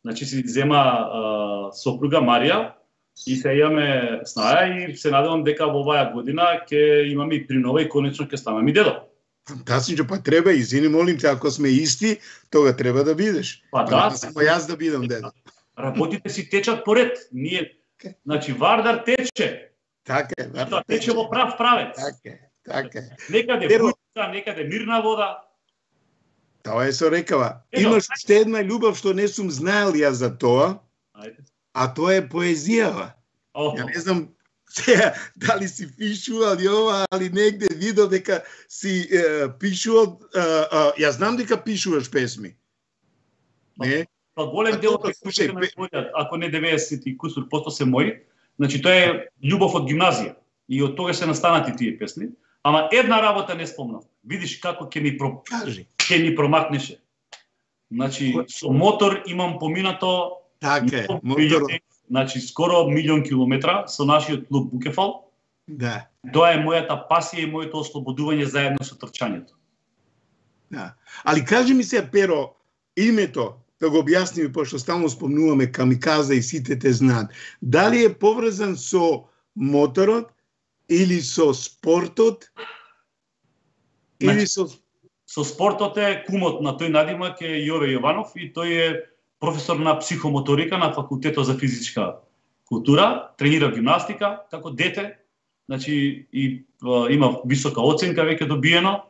значи си зема а, сопруга Марија и се имаме снаја и се надевам дека во оваа година ќе имаме и принова и конечно ќе станам и дедо. Фантастично, па треба, извини, молим те, ако сме исти, тога треба да бидеш. Па да, само јас да бидам дедо. Работите си течат поред, ние, значи Вардар тече. Така е, Вардар тече во прав правец. Така е, така е. Некаде бујка, некаде мирна вода. Тоа е со рекава. Имаш уште една љубов што не сум знаел ја за тоа, а тоа е поезијава. Oh. Ја не знам дали си пишувал и ова, али негде видов дека си е, пишувал, е, е, јас знам дека пишуваш песми. Не? Па голем дел од песмите на мојот, ако не деветдесет и кусур посто се мои, значи тоа е љубов од гимназија и од тога се настанати тие песни, ама една работа не спомнав. Видиш како ќе ни про... ќе ни промакнеше. Значи со мотор имам поминато така е, моторот. Значи, скоро милион километра со нашиот клуб Букефал. Да. Тоа е мојата пасија и моето ослободување заедно со трчањето. Да. Али кажи ми се, Перо, името, да го објасниме, пошто стално спомнуваме камиказа и сите те знаат. Дали е поврзан со моторот или со спортот? Значи, или со... со спортот е кумот на тој надимак е Јове Јованов и тој е професор на психомоторика на факултетот за физичка култура, тренира гимнастика како дете, значи и а, има висока оценка веќе добиено,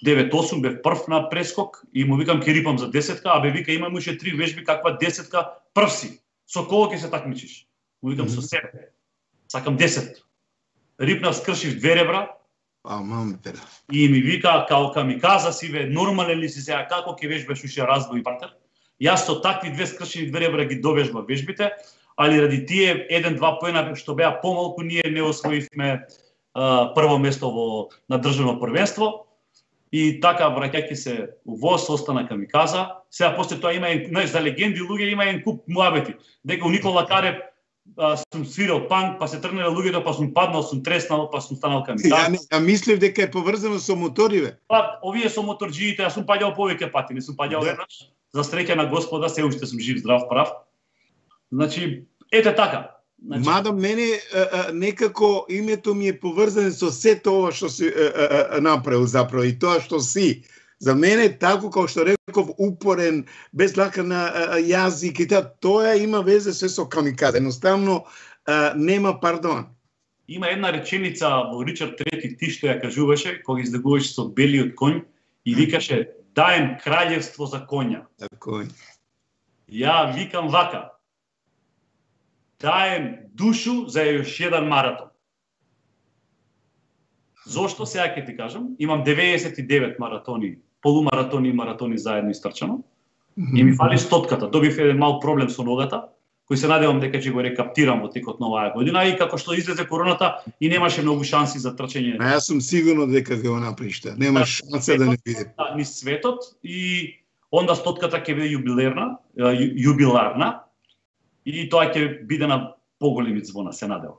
девет осум бев прв на прескок и му викам ќе рипам за десетка, а бе вика имам уште три вежби каква десетка прв си. Со кого ќе се такмичиш? Му викам mm -hmm. со себе. Сакам десет. Рипнав, скршив две ребра. А, мам, пера. И ми вика као камиказа си ве, нормален ли си сега, како ќе вежбаш уште разбој партер? Јас со такви две скршени две ребра ги довежбав вежбите, али ради тие еден-два поена што беа помалку, ние не освоивме а, прво место во на државно првенство. И така враќајќи се у ВОС остана камиказа. Сега после тоа има и знаеш, за легенди луѓе има еден куп муабети. Дека у Никола Карев а, сум свирал панк, па се тргнале луѓето, па сум паднал, сум треснал, па сум станал камиказа. Ја, ја мислев дека е поврзано со моториве. Па овие со моторџиите, јас сум паѓал повеќе пати, не сум паѓал еднаш. За среќа на Господа, се уште сум жив, здрав, прав. Значи, ете така. Значи... Мада мене а, а, некако името ми е поврзано со сето ова што си а, а, направил заправо и тоа што си. За мене тако како што реков упорен, без лака на а, јазик и тоа, тоа има везе се со камикаде. Едноставно а, нема пардон. Има една реченица во Ричард трети, ти што ја кажуваше кога излегуваше со белиот коњ и викаше даем краљевство за коња. За коњ. Ја викам вака. Даем душу за још еден маратон. Зошто сега ќе ти кажам? Имам деветдесет и девет маратони, полумаратони и маратони заедно истрчано. Mm -hmm. И ми фали стотката. Добив еден мал проблем со ногата, кој се надевам дека ќе го рекаптирам во текот на оваа година и како што излезе короната и немаше многу шанси за трчање. А јас сум сигурно дека ќе го направиш тоа. Нема шанса да не биде. Ни светот и онда стотката ќе биде јубилерна, јубиларна и тоа ќе биде на поголеми звона, се надевам.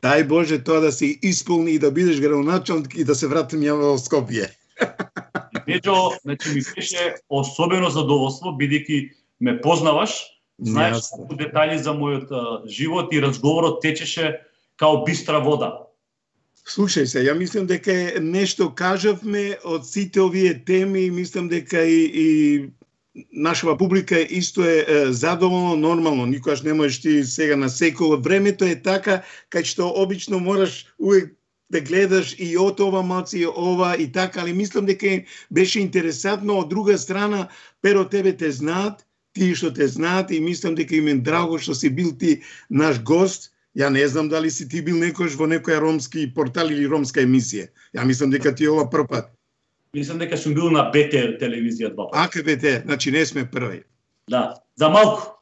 Дај Боже тоа да се исполни и да бидеш градоначалник и да се вратим ја во Скопје. Меѓу, значи ми беше особено задоволство бидејќи ме познаваш, знаеш многу детали за мојот а, живот и разговорот течеше као бистра вода. Слушај се, ја мислам дека е нешто кажавме од сите овие теми, мислам дека и, и нашава публика исто е, е задоволно, нормално, никогаш не можеш ти сега на секој. Времето е така, кај што обично мораш увек да гледаш и од ова малци и ова и така, али мислам дека беше интересантно. Од друга страна, перо тебе те знаат, тие што те знаат и мислам дека им е драго што си бил ти наш гост. Ја не знам дали си ти бил некојаш во некоја ромски портал или ромска емисија. Ја мислам дека ти ова прв пат. Мислам дека сум бил на Б Т Р телевизија два пати. А ка Б Т Р, значи не сме први. Да, за малку.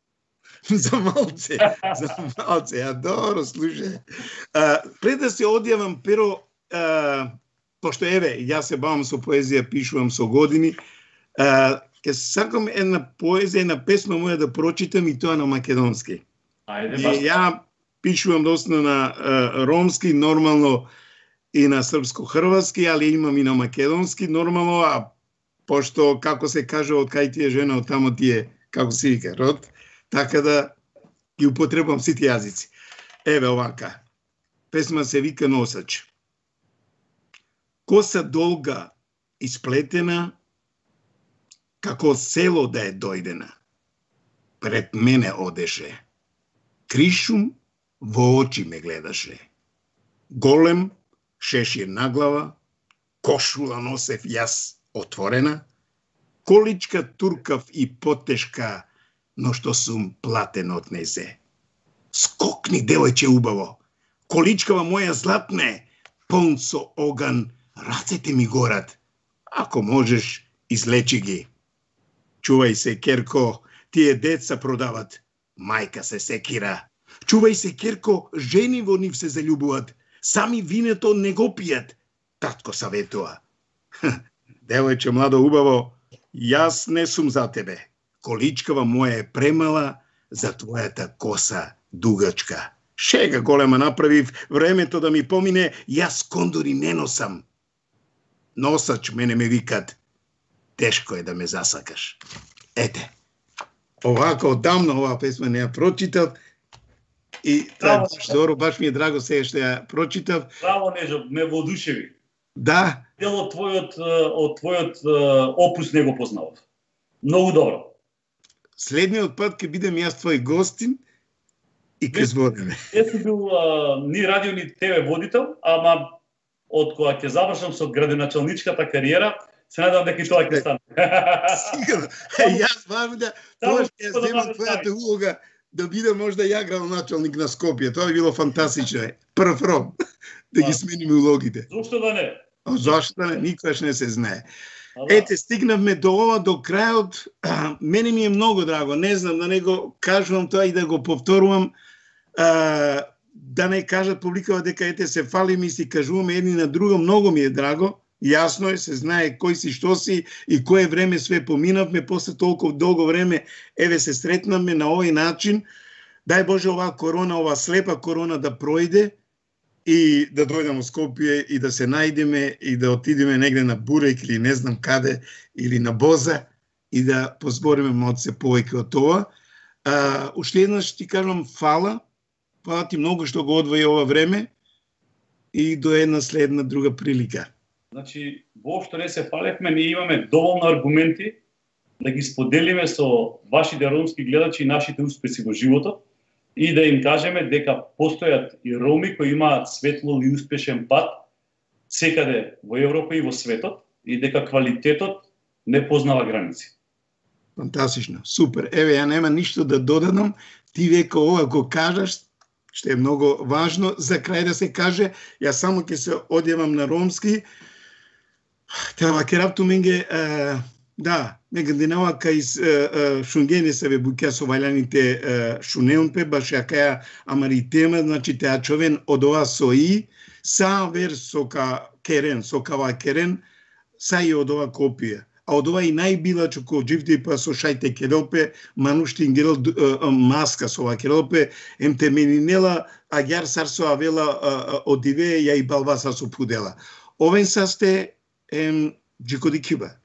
За малце, за малце, ја добро, слушај. Пред да се одјавам, перо, а, пошто еве, јас се бавам со поезија, пишувам со години, а, ке сакам една поезија, една песма моја да прочитам и тоа на македонски. Ајде, и баш. ја пишувам доста на а, ромски, нормално и на српско-хрватски, али имам и на македонски, нормално, а пошто, како се каже, од кај ти е жена, од тамо ти е, како се вика, род, така да ги употребам сите јазици. Еве овака. Песма се вика Носач. Коса долга и сплетена, како село да е дојдена. Пред мене одеше. Кришум во очи ме гледаше. Голем шешир на глава, кошула носев јас отворена, количка туркав и потешка, но што сум платен од незе. Скокни, девојче убаво, количкава моја златне, полн со оган, рацете ми горат. Ако можеш, излечи ги. Чувај се, Керко, тие деца продават. Мајка се секира. Чувај се, Керко, жени во нив се заљубуват. Сами винето не го пијат. Татко саветува. Девојче младо убаво, јас не сум за тебе. Количкава моја е премала за твојата коса дугачка. Шега голема направив, времето да ми помине, јас кондори не носам. Носач мене ме викат. Тешко е да ме засакаш. Ете, овака одамна оваа песма не ја прочитав и тоа е баш добро, баш ми е драго сега што ја прочитав. Браво, Нежо, ме воодушеви. Да. Дел од твојот, од твојот опус не го познавав. Многу добро. Следниот пат ќе бидем јас твој гостин и ќе збориме. Јас сум бил а, ни радио ни Т В водител, ама од кога ќе завршам со градоначалничката кариера, се надевам дека и тоа ќе стане. Сигурно. Јас баш да тоа ќе ја земам твојата улога да бидам можда ја градоначалник на Скопје. Тоа би било фантастично. Прв ром да ги смениме улогите. Зошто да не? А зашто да не? Никогаш не се знае. Ете, стигнавме до ова, до крајот. Мене ми е многу драго. Не знам да не го кажувам тоа и да го повторувам. А, да не кажат публикава дека ете се фалиме и си кажуваме едни на друго. Многу ми е драго. Јасно е, се знае кој си, што си и кое време све поминавме. После толкова долго време, еве се сретнавме на овој начин. Дај Боже оваа корона, оваа слепа корона да пројде и да дојдеме во Скопје и да се најдеме и да отидеме негде на Бурек или не знам каде, или на Боза и да позбориме малце повеќе од тоа. А, уште еднаш ти кажам фала, фала ти многу што го одвои ова време и до една следна друга прилика. Значи, воопшто не се фалевме, ние имаме доволно аргументи да ги споделиме со вашите ромски гледачи и нашите успеси во животот и да им кажеме дека постојат и роми кои имаат светло и успешен пат секаде во Европа и во светот и дека квалитетот не познава граници. Фантастично, супер. Еве, ја нема ништо да додадам. Ти века ова го кажаш, што е многу важно за крај да се каже. Јас само ќе се одјавам на ромски. Тева керапту менге, да, менге денава кај шунгени се ве буќа со вајланите шунеунпе, баш ја каја амаритема, значи теа човен од ова со и, са вер со ка керен, со кава керен, са и од ова копија. а од ова и најбилачо ко дживди па со шајте керелпе, мануштин герел маска со ова керелпе, ем теменинела, агјар сарсо авела одиве ја и балваса со пудела. Овен састе ем джикоди Кюба.